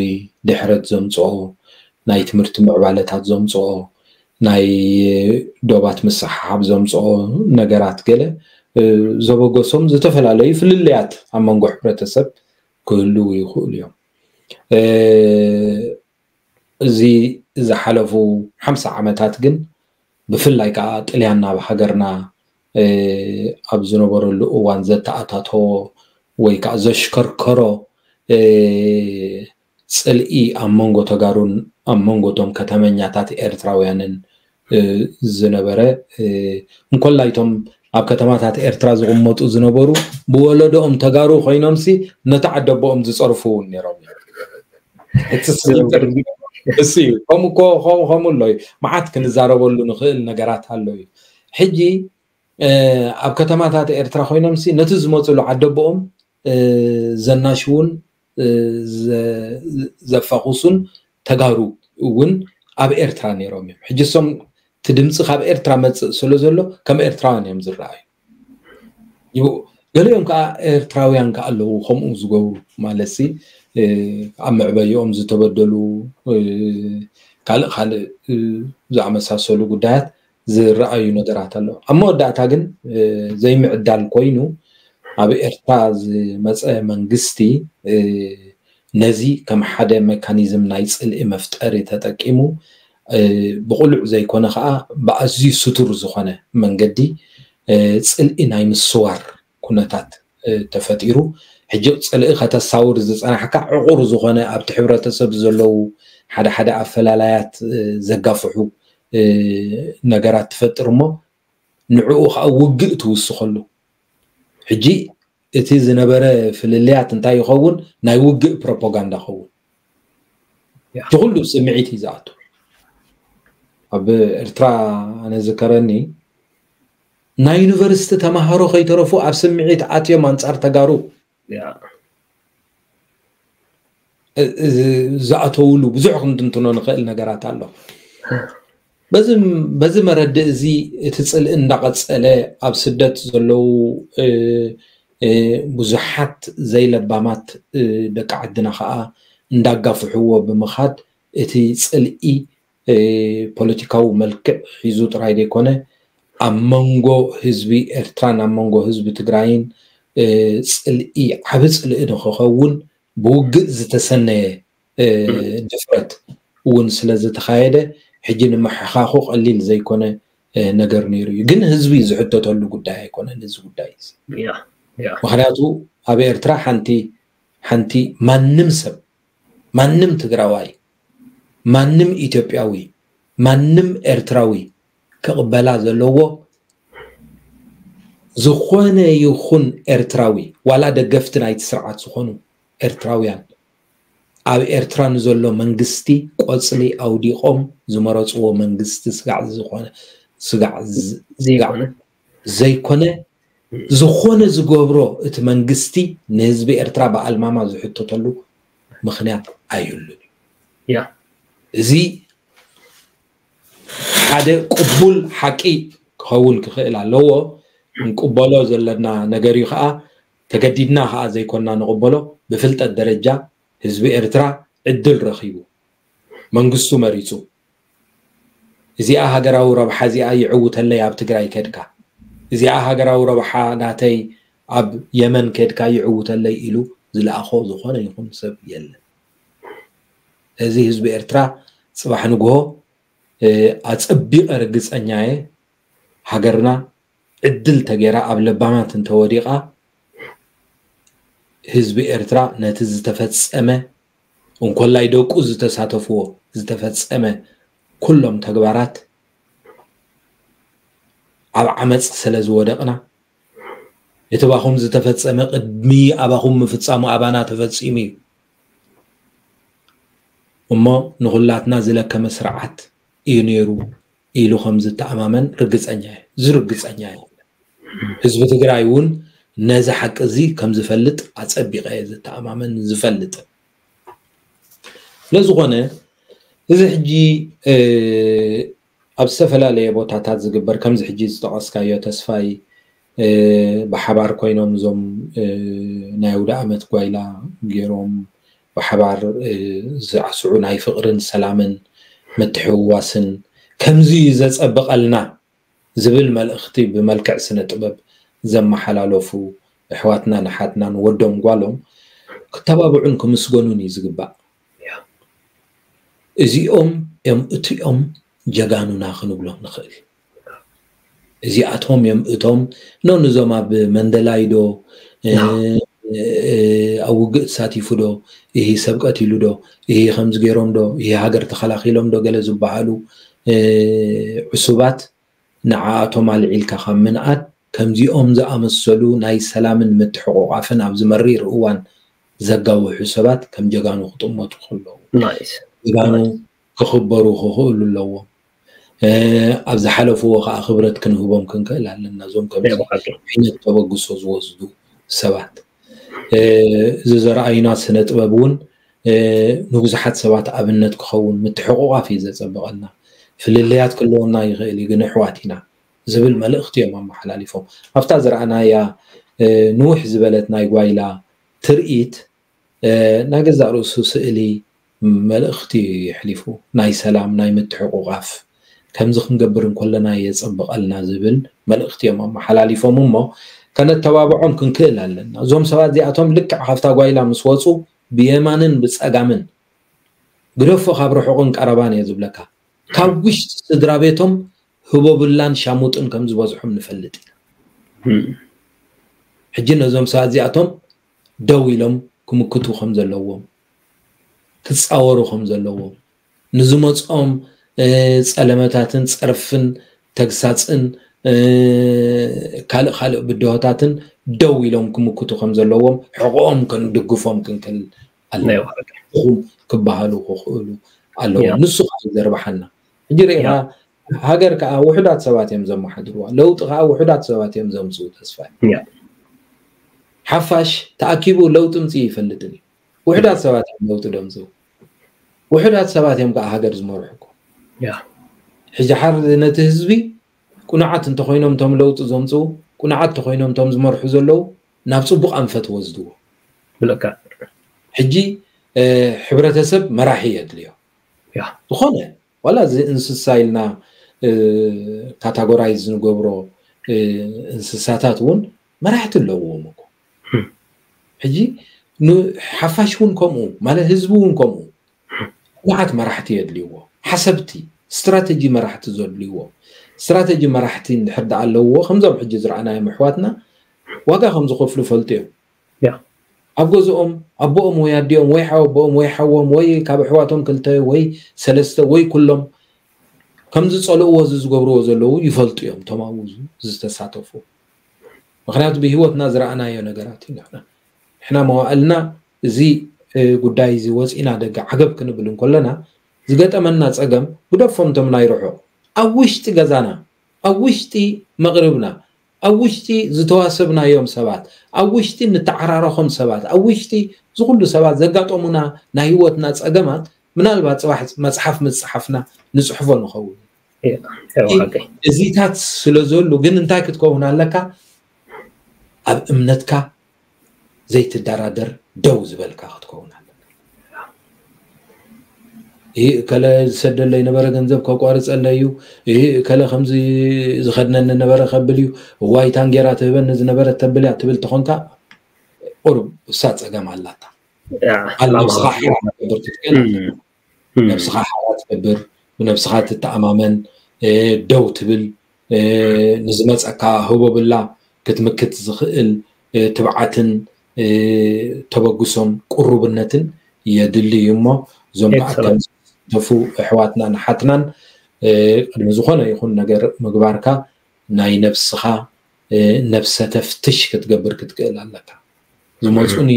ድሕረት ዘምፅኦ ናይ ትምህርቲ ምዕባለታት ዘምፅኦ ናይ ዶባት ምስሓሓብ ዘምፅኦ ነገራት ገለ ዘበገሶም ዝተፈላለዩ ፍልልያት ኣብ መንጎ ሕብረተሰብ ክህልው ይኽእሉ እዮም። እዚ ዝሓለፉ ሓምሳ ዓመታት ግን ብፍላይ ከዓ ጥልያን ናብ ሃገርና ኣብ ዝነበረሉ እዋን ዘተኣታተዎ ወይ ከዓ ዘሽከርከሮ ፅልኢ ኣብ መንጎ ተጋሩን ኣብ መንጎ ቶም ከተመኛታት ኤርትራውያንን ዝነበረ እንኮላይ ቶም ኣብ ከተማታት ኤርትራ ዝቕመጡ ዝነበሩ ብወለዶኦም ተጋሩ ኮይኖምሲ ነቲ ዓደቦኦም ዝፀርፉ እውን ነይሮም። እቲ ስግግር እሱ እዩ። ከምኡ እኮ ከምኡ ከምኡ ኣሎ እዩ። መዓት ክንዛረበሉ ንኽእል ነገራት ኣሎ እዩ። ሕጂ ኣብ ከተማታት ኤርትራ ኮይኖምሲ ነቲ ዝመፅሉ ዓደቦኦም ዘናሽውን ዘፋኹሱን ተጋሩ እውን ኣብ ኤርትራ ነይሮም እዮም። ሕጂ እሶም እቲ ድምፂ ካብ ኤርትራ መፅእ ስለ ዘሎ ከም ኤርትራውያን እዮም ዝረኣዩ። ገሊኦም ከዓ ኤርትራውያን ከዓ ኣለዉ ከምኡ ዝገብሩ ማለት ሲ ኣብ መዕበይኦም ዝተበደሉ ካልእ ካልእ ዝኣመሳሰሉ ጉዳያት ዝረኣዩ ነገራት ኣለዉ። ኣብ መወዳእታ ግን ዘይምዕዳል ኮይኑ ኣብ ኤርትራ ዝመፀ መንግስቲ ነዚ ከም ሓደ መካኒዝም ናይ ፅልኢ መፍጠሪ ተጠቂሙ ብቁሉዕ ዘይኮነ ከዓ ብኣዝዩ ስቱር ዝኾነ መንገዲ ፅልኢ ናይ ምስዋር ኩነታት ተፈጢሩ። ሕጂ ፅልኢ ከተሳውር ዝፀናሕካ ዕቑር ዝኾነ ኣብቲ ሕብረተሰብ ዘለዉ ሓደ ሓደ ኣፈላላያት ዘጋፍሑ ነገራት ትፈጥር እሞ ንዕኡ ከዓ ውግእ ትውስኸሉ። ሕጂ እቲ ዝነበረ ፍልልያት እንታይ ይኸውን? ናይ ውግእ ፕሮፓጋንዳ ኸውን። እቲ ኩሉ ስምዒት እዩ ዝኣቱ። ኣብ ኤርትራ ኣነ ዝከረኒ ናይ ዩኒቨርሲቲ ተማሃሮ ከይተረፉ ኣብ ስምዒት ኣትዮም ኣንጻር ተጋሩ ዝኣተውሉ ብዙሕ ክንትንትኖ ንኽእል ነገራት ኣሎ። በዚ መረድእ እዚ እቲ ፅልኢ እንዳቐፀለ ኣብ ስደት ዘለዉ ብዙሓት ዘይለባማት ደቂ ዓድና ከዓ እንዳጋፍሕዎ ብምኻድ እቲ ፅልኢ ፖለቲካዊ መልክዕ ሒዙ ጥራይ ዘይኮነ ኣብ መንጎ ህዝቢ ኤርትራን ኣብ መንጎ ህዝቢ ትግራይን ፅልኢ ዓቢ ፅልኢ ንክኸውን ብውግእ ዝተሰነየ ድፍረት እውን ስለ ዝተኻየደ ሕጂ ንምሕኻኹ ቀሊል ዘይኮነ ነገር ነይሩ እዩ። ግን ህዝቢ ዝሕተተሉ ጉዳይ ኣይኮነን እዚ ጉዳይ እዚ። ምክንያቱ ኣብ ኤርትራ ሓንቲ ሓንቲ ማንም ሰብ ማንም ትግራዋይ ማንም ኢትዮጵያዊ ማንም ኤርትራዊ ክቕበላ ዘለዎ ዝኾነ ይኹን ኤርትራዊ ዋላ ደገፍቲ ናይቲ ስርዓት ዝኾኑ ኤርትራውያን ኣብ ኤርትራ ንዘሎ መንግስቲ ቆፅሊ ኣውዲቖም ዝመረፅዎ መንግስቲ ስጋዕ ዝኾነ ስጋዕ ዘይኮነ ዝኾነ ዝገብሮ እቲ መንግስቲ ንህዝቢ ኤርትራ ብኣልማማ ዝሕተተሉ ምኽንያት ኣይህሉን እዩ። እዚ ሓደ ቅቡል ሓቂ ክኸውን ክኽእል ኣለዎ። ንቅበሎ ዘለና ነገር እዩ ከዓ ተገዲድና ከዓ ዘይኮና ንቅበሎ። ብፍልጠት ደረጃ ህዝቢ ኤርትራ ዕድል ረኺቡ መንግስቱ መሪፁ እዚኣ ሃገራዊ ረብሓ እዚኣ ይዕውተለይ ኣብ ትግራይ ከድካ እዚኣ ሃገራዊ ረብሓ ናተይ ኣብ የመን ከድካ ይዕውተለይ ኢሉ ዝለኣኾ ዝኾነ ይኹን ሰብ የለን። እዚ ህዝቢ ኤርትራ ፅባሕ ንግሆ ኣፀቢቐ ርግፀኛ እየ ሃገርና ዕድል ተገይራ ኣብ ለባማት እንተወዲቓ ህዝቢ ኤርትራ ነቲ ዝተፈፀመ እንኮላይ ደቁ ዝተሳተፍዎ ዝተፈፀመ ኩሎም ተግባራት ኣብ ዓመፅ ስለ ዝወደቕና እቲ ባኹም ዝተፈፀመ ቅድሚ ኣባኹም ምፍፃሙ ኣባና ተፈፂሙ እዩ እሞ ንኹላትና ዝለከመ ስርዓት እዩ ነይሩ ኢሉ ከም ዝተኣማመን ርግፀኛ እዩ። ዝርግፀኛ እዩ። ህዝቢ ትግራይ እውን ነዚ ሓቂ እዚ ከም ዝፈልጥ ኣፀቢቐ እየ ዝተኣማመን ዝፈልጥ። ስለዝኾነ እዚ ሕጂ ኣብ ዝተፈላለየ ቦታታት ዝግበር ከምዚ ሕጂ ዝጠቐስካዮ ተስፋይ ብሓባር ኮይኖም እዞም ናይ ኣውደ ኣመት ጓይላ ገይሮም ብሓባር ዝዓስዑ ናይ ፍቕርን ሰላምን ምትሕውዋስን ከምዚ እዩ ዘጸብቐልና ዝብል መልእኽቲ ብመልክዕ ስነ ጥበብ ዘመሓላለፉ ኣሕዋትናን ኣሓትናን ወዶም ጓሎም ክተባብዑን ክምስገኑን እዩ ዝግባእ። እዚኦም እዮም እቲኦም ጀጋኑና ክንብሎም ንኽእል። እዚኣቶም እዮም እቶም ኖ ንዞም ኣብ መንደላይ ዶ ኣብ ውግእ ተሳቲፉ ዶ ይህ ሰብ ቀቲሉ ዶ ይህ ከምዚ ገይሮም ዶ ይህ ሃገር ተኸላኺሎም ዶ ገለ ዝበሃሉ ዕሱባት ንዓኣቶም ኣልዒልካ ካብ ምንኣድ ከምዚኦም ዝኣመሰሉ ናይ ሰላምን ምትሕቑቓፍን ኣብዚ መሪር እዋን ዘጋውሑ ሰባት ከም ጀጋኑ ክጥመቱ ከለዉ ጀጋኑ ክኽበሩ ክኽእሉ ኣለዎም። ኣብ ዝሓለፍዎ ከዓ ክብረት ክንህቦም ክንክእል ኣለና። እዞም ከምዚ ዓይነት ተበግሶ ዝወስዱ ሰባት እዚ ዘረኣዩና ስነ ጥበብ እውን ንብዙሓት ሰባት ኣብነት ክኸውን ምትሕቑቓፍ እዩ ዘጸብቐልና። ፍልልያት ክህልወና ይኽእል እዩ ግን ኣሕዋት ኢና ዝብል መልእኽቲ እዮም ኣመሓላሊፎም። ኣብታ ዝረኣናያ ንውሕ ዝበለት ናይ ጓይላ ትርኢት ናይ ገዛእ ርእሱ ስእሊ መልእኽቲ የሕሊፉ ናይ ሰላም ናይ ምትሕቑቓፍ ከምዚ ክንገብር እንከለና የጸብቐልና ዝብል መልእኽቲ እዮም ኣመሓላሊፎም። እሞ ከነተባብዖም ክንክእል ኣለና። እዞም ሰባት እዚኣቶም ልክዕ ካብታ ጓይላ ምስ ወፁ ብየማንን ብጸጋምን ግደፎ፣ ካብ ርሑቕን ቀረባን እየ ዝብለካ፣ ካብ ውሽጢ ስድራ ቤቶም ህቦብላን ሻሙጥን ከም ዝበዝሖም ንፈልጥ ኢና። ሕጂ ነዞም ሰባት እዚኣቶም ደው ኢሎም ክምክቱ ከም ዘለዎም፣ ክጻወሩ ከም ዘለዎም፣ ንዝመጽኦም ጸለመታትን ጸርፍን ተግሳጽን ካልእ ካልእ ብድሆታትን ደው ኢሎም ክምክቱ ከም ዘለዎም፣ ሕቕኦም ክንድግፎም ክንክእል ኣለዎም። ንኹም ክበሃሉ ክኽእሉ ኣለዎም። ንሱ ከዓ ዘርብሓና። ሕጂ ርኢኻ፣ ሃገር ከዓ ውሑዳት ሰባት እዮም ዘመሓድርዋ፣ ለውጢ ከዓ ውሑዳት ሰባት እዮም ዘምፅኡ። ተስፋ ሓፋሽ ተኣኪቡ ለውጢ ምፅእ ይፈልጥን እዩ። ውሑዳት ሰባት እዮም ለውጢ ደምፅኡ። ውሑዳት ሰባት እዮም ከዓ ሃገር ዝመርሑ እኮ። ሕጂ ሓር ነቲ ህዝቢ ቁኑዓት እንተኮይኖም እቶም ለውጢ ዘምፅኡ፣ ቁኑዓት እንተኮይኖም እቶም ዝመርሑ ዘለዉ ናብ ፅቡቅ ኣንፈት ወስድዎ። ብለካ ሕጂ ሕብረተሰብ መራሒ የድልዮ። ዝኾነ ዋላ እዚ እንስሳ ኢልና ካታጎራይዝ ንገብሮ እንስሳታት እውን መራሕቲ ኣለውዎም እኮ። ሕጂ ሓፋሽ እውን ከምኡ ማለት ህዝቢ እውን ከምኡ ቁኑዓት መራሕቲ የድልይዎ። ሓሰብቲ፣ ስትራተጂ መራሕቲ ዘድልይዎ። ስትራተጂ መራሕቲ እንድሕር ደኣ ኣለውዎ፣ ከምዞም ሕጂ ዝረኣናዮም ኣሕዋትና ዋጋ ከም ዝኸፍሉ ፈልጡ እዮም። ኣብ ገዝኦም ኣቦኦም ወይ ኣዲኦም ወይ ሓወቦኦም ወይ ሓዎም ወይ ካብ ኣሕዋቶም ክልተ ወይ ሰለስተ ወይ ኩሎም ከም ዝጸልእዎ እዚ ዝገብርዎ ዘለዉ ይፈልጡ እዮም፣ እቶም ኣብኡ ዝተሳተፉ። ምኽንያቱ ብህይወትና ዝረኣናዮ ነገራት እዩ። ንሕና ንሕና መዋእልና እዚ ጉዳይ እዚ ወፂና ደገ ዓገብ ክንብል እንከለና ዝገጠመና ፀገም ግደፎም፣ እቶም ናይ ርሑቕ፣ ኣብ ውሽጢ ገዛና፣ ኣብ ውሽጢ መቕርብና፣ ኣብ ውሽጢ ዝተዋሰብናዮም ሰባት፣ ኣብ ውሽጢ ንተዓራረኾም ሰባት፣ ኣብ ውሽጢ ዝኹሉ ሰባት ዘጋጠሙና ናይ ህይወትና ፀገማት ምናልባት ፅባሕ መፅሓፍ ምፅሓፍና ንፅሕፎ ንኸውን። እዚታት ስለ ዘሉ ግን እንታይ ክትከውን ኣለካ? ኣብ እምነትካ ዘይትደራደር ደው ዝበልካ ክትከውን ኣለካ። ይህ እከለ ዝሰደለይ ነበረ ገንዘብ ከቋርፀለይ እዩ፣ ይህ እከለ ከምዚ ዝኸድነኒ ነበረ ከብል እዩ፣ እዋይ ታንጌራ ትህበኒ ዝነበረት ተብል እያ ትብል ተኾንካ ቁሩብ እሳ ፀገም ኣላታ። ነብስኻ ሓራ ክትገብር ክትክእል ኣለካ። ነብስኻ ሓራ ትገብር፣ ብነብስኻ ትተኣማመን፣ ደው ትብል፣ ንዝመፀካ ህቦብላ ክትምክት ዝኽእል ትብዓትን ተበግሶን ቁሩብነትን የድሊ እዩ። እሞ እዞም ከዓ ከም ዝሳተፉ ኣሕዋትናን ኣሓትናን ቅድሚ ዝኾነ ይኹን ነገር ምግባርካ ናይ ነብስኻ ነብሰ ተፍትሽ ክትገብር ክትክእል ኣለካ። ዝመፁኒ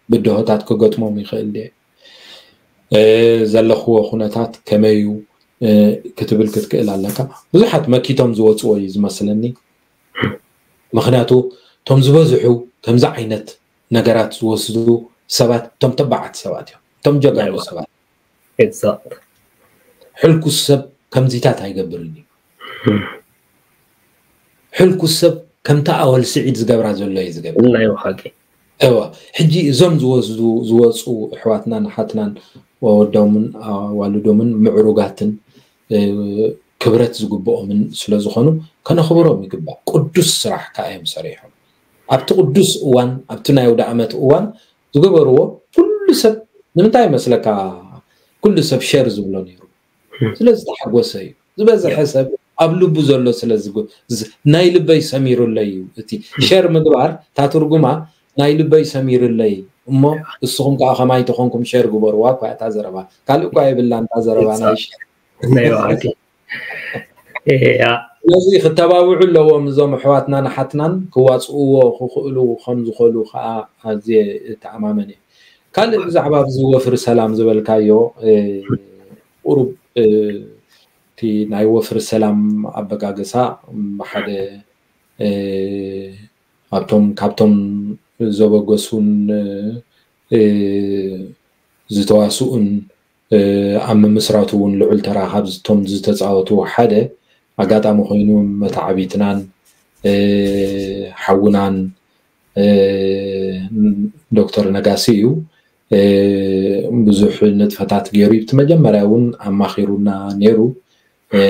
ብድሆታት ክገጥሞም ይኽእል ድየ? ዘለኽዎ ኩነታት ከመይ እዩ ክትብል ክትክእል ኣለካ። ብዙሓት መኪቶም ዝወፅዎ እዩ ዝመስለኒ። ምኽንያቱ እቶም ዝበዝሑ ከምዚ ዓይነት ነገራት ዝወስዱ ሰባት እቶም ተባዓት ሰባት እዮም፣ እቶም ጀጋኑ ሰባት። ሕልኩስ ሰብ ከምዚታት ኣይገብርን እዩ። ሕልኩስ ሰብ ከምታ ኣወል ስዒድ ዝገብራ ዘሎ እዩ ዝገብር። እዋ ሕጂ እዞም ዝወስዱ ዝወፁ ኣሕዋትናን ኣሓትናን ወዶምን ኣዋልዶምን ምዕሩጋትን ክብረት ዝግብኦምን ስለ ዝኾኑ ከነኽብሮም ይግባእ። ቅዱስ ስራሕ ከዓ እዮም ሰሪሖም። ኣብቲ ቅዱስ እዋን፣ ኣብቲ ናይ ኣውደ ዓመት እዋን ዝገበርዎ ኩሉ ሰብ ንምንታይ ይመስለካ? ኩሉ ሰብ ሸር ዝብሎ ነይሩ። ስለ ዝተሓጎሰ እዩ። ዝበዝሐ ሰብ ኣብ ልቡ ዘሎ ስለ ናይ ልበይ ሰሚሩለይ እዩ። እቲ ሸር ምግባር እታ ትርጉማ ናይ ልበይ ሰሚሩለይ እሞ እስኹም ከዓ ከማይ ተኾንኩም ሸር ግበርዋ እኳ እታ ዘረባ ካልእ እኳ የብላን እታ ዘረባ ናይ ሸር። ስለዚ ክተባብዑ ኣለዎም እዞም ኣሕዋትናን ኣሓትናን ክዋፅእዎ ክኽእሉ ከም ዝኽእሉ ከዓ ኣዝየ እተኣማመን እየ። ካልእ ብዛዕባ ኣብዚ ወፍሪ ሰላም ዝበልካዮ ቁሩብ እቲ ናይ ወፍሪ ሰላም ኣበጋግሳ ብሓደ ኣብቶም ካብቶም ዘበገሱን ዝተዋስኡን ኣብ ምምስራቱ እውን ልዑል ተራ ካብቶም ዝተፃወቱ ሓደ ኣጋጣሚ ኮይኑ መተዓቢትናን ሓውናን ዶክተር ነጋሲ እዩ። ብዙሕ ንጥፈታት ገይሩ እቲ መጀመርያ እውን ኣማኺሩና ነይሩ።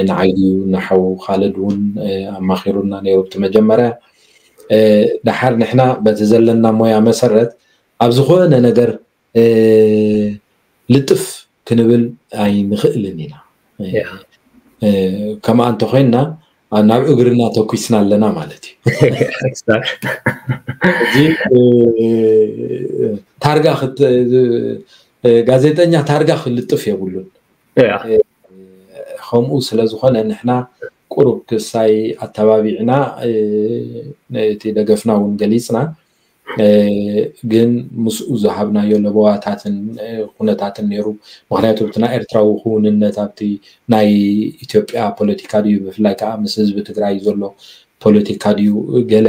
ንዓይ ድዩ ንሓው ካልድ እውን ኣማኺሩና ነይሩ ብቲ መጀመርያ። ድሓር ንሕና በቲ ዘለና ሞያ መሰረት ኣብ ዝኾነ ነገር ልጥፍ ክንብል ኣይንኽእልን ኢና። ከምኣ እንተኮይንና ናብ እግርና ተኩስና ኣለና ማለት እዩ። እዚ ታርጋ ጋዜጠኛ ታርጋ ክልጥፍ የብሉን። ከምኡ ስለዝኾነ ንሕና ቁሩብ ክሳይ ኣተባቢዕና እቲ ደገፍና እውን ገሊፅና። ግን ምስኡ ዝሃብናዮ ለበዋታትን ኩነታትን ነይሩ። ምክንያቱ ብቲ ናይ ኤርትራዊ ክውንነት ኣብቲ ናይ ኢትዮጵያ ፖለቲካ ድዩ ብፍላይ ከዓ ምስ ህዝቢ ትግራይ ዘሎ ፖለቲካ ድዩ ገለ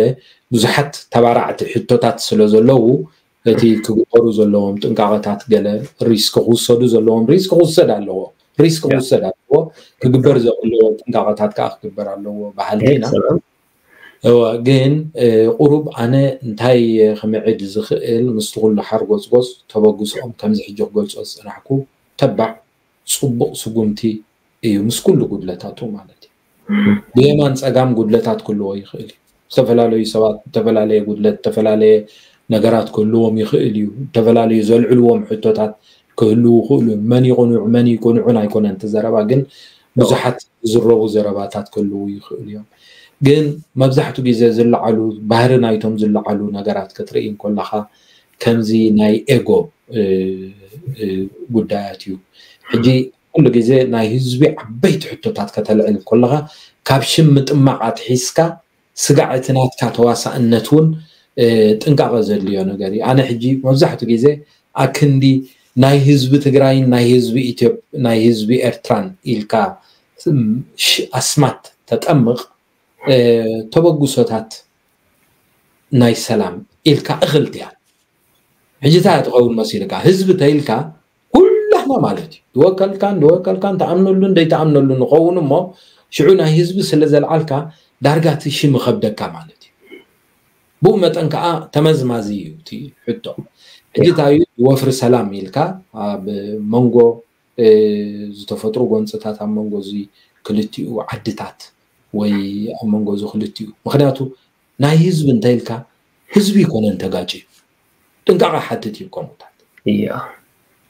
ብዙሓት ተባራዕቲ ሕቶታት ስለ ዘለዉ እቲ ክግበሩ ዘለዎም ጥንቃቐታት ገለ ሪስክ ክውሰዱ ዘለዎም ሪስክ ክውሰድ ኣለዎ ሪስክ ክውሰድ ኣለዎ ክግበር ዘለዎ ጥንቃቐታት ከዓ ክግበር ኣለዎ ባህልና እወ ግን ቁሩብ ኣነ እንታይ ክምዕድ ዝኽእል ምስቲ ኩሉ ሓርጎፅጎፅ ተበግስኦም ከምዚ ሕጂ ክገልፆ ዝፅናሕኩ ተባዕ ፅቡቕ ስጉምቲ እዩ ምስ ኩሉ ጉድለታቱ ማለት እዩ። ብየማን ፀጋም ጉድለታት ክህልዎ ይኽእል እዩ። ዝተፈላለዩ ሰባት ዝተፈላለየ ጉድለት ዝተፈላለየ ነገራት ክህልዎም ይኽእል እዩ። ዝተፈላለዩ ዘልዕልዎም ሕቶታት ክህልዉ ይኽእሉ እዮም። መን ይቕኑዕ መን ይቅንዑን ኣይኮነን እቲ ዘረባ ግን ብዙሓት ዝዝረቡ ዘረባታት ክህልዉ ይኽእሉ እዮም። ግን መብዛሕቱ ግዜ ዝለዓሉ ባህሪ ናይቶም ዝለዓሉ ነገራት ክትርኢ እንከለኻ ከምዚ ናይ ኤጎ ጉዳያት እዩ። ሕጂ ኩሉ ግዜ ናይ ህዝቢ ዓበይቲ ሕቶታት ከተልዕል ከለኻ ካብ ሽም ምጥማቕ ኣትሒዝካ ስጋዕ እቲ ናትካ ተዋሳእነት እውን ጥንቃቐ ዘድልዮ ነገር እዩ። ኣነ ሕጂ መብዛሕቱ ግዜ ኣክንዲ ናይ ህዝቢ ትግራይን ናይ ህዝቢ ኢትዮጵ ናይ ህዝቢ ኤርትራን ኢልካ ኣስማት ተጠምቕ ተበግሶታት ናይ ሰላም ኢልካ እኽልትያ ሕጂ እንታይ ትኸውን መሲልካ ህዝቢ ተይልካ ኩላህና ማለት እዩ ዝወከልካን ዝወከልካን ተኣምነሉን ዘይተኣምነሉ ንኸውን እሞ ሽዑ ናይ ህዝቢ ስለ ዘልዓልካ ዳርጋ እቲ ሽም ይኸብደካ ማለት እዩ። ብኡ መጠን ከዓ ተመዝማዚ እዩ እቲ ሕቶ። ሕጂ እንታይ እዩ ወፍሪ ሰላም ኢልካ ኣብ መንጎ ዝተፈጥሩ ጎንፅታት ኣብ መንጎ እዚ ክልቲኡ ዓድታት ወይ ኣብ መንጎ እዚ ክልቲኡ ምክንያቱ ናይ ህዝቢ እንተኢልካ ህዝቢ ይኮነን ተጋጭ ጥንቃቐ ሓትት እዩ ከምኡታት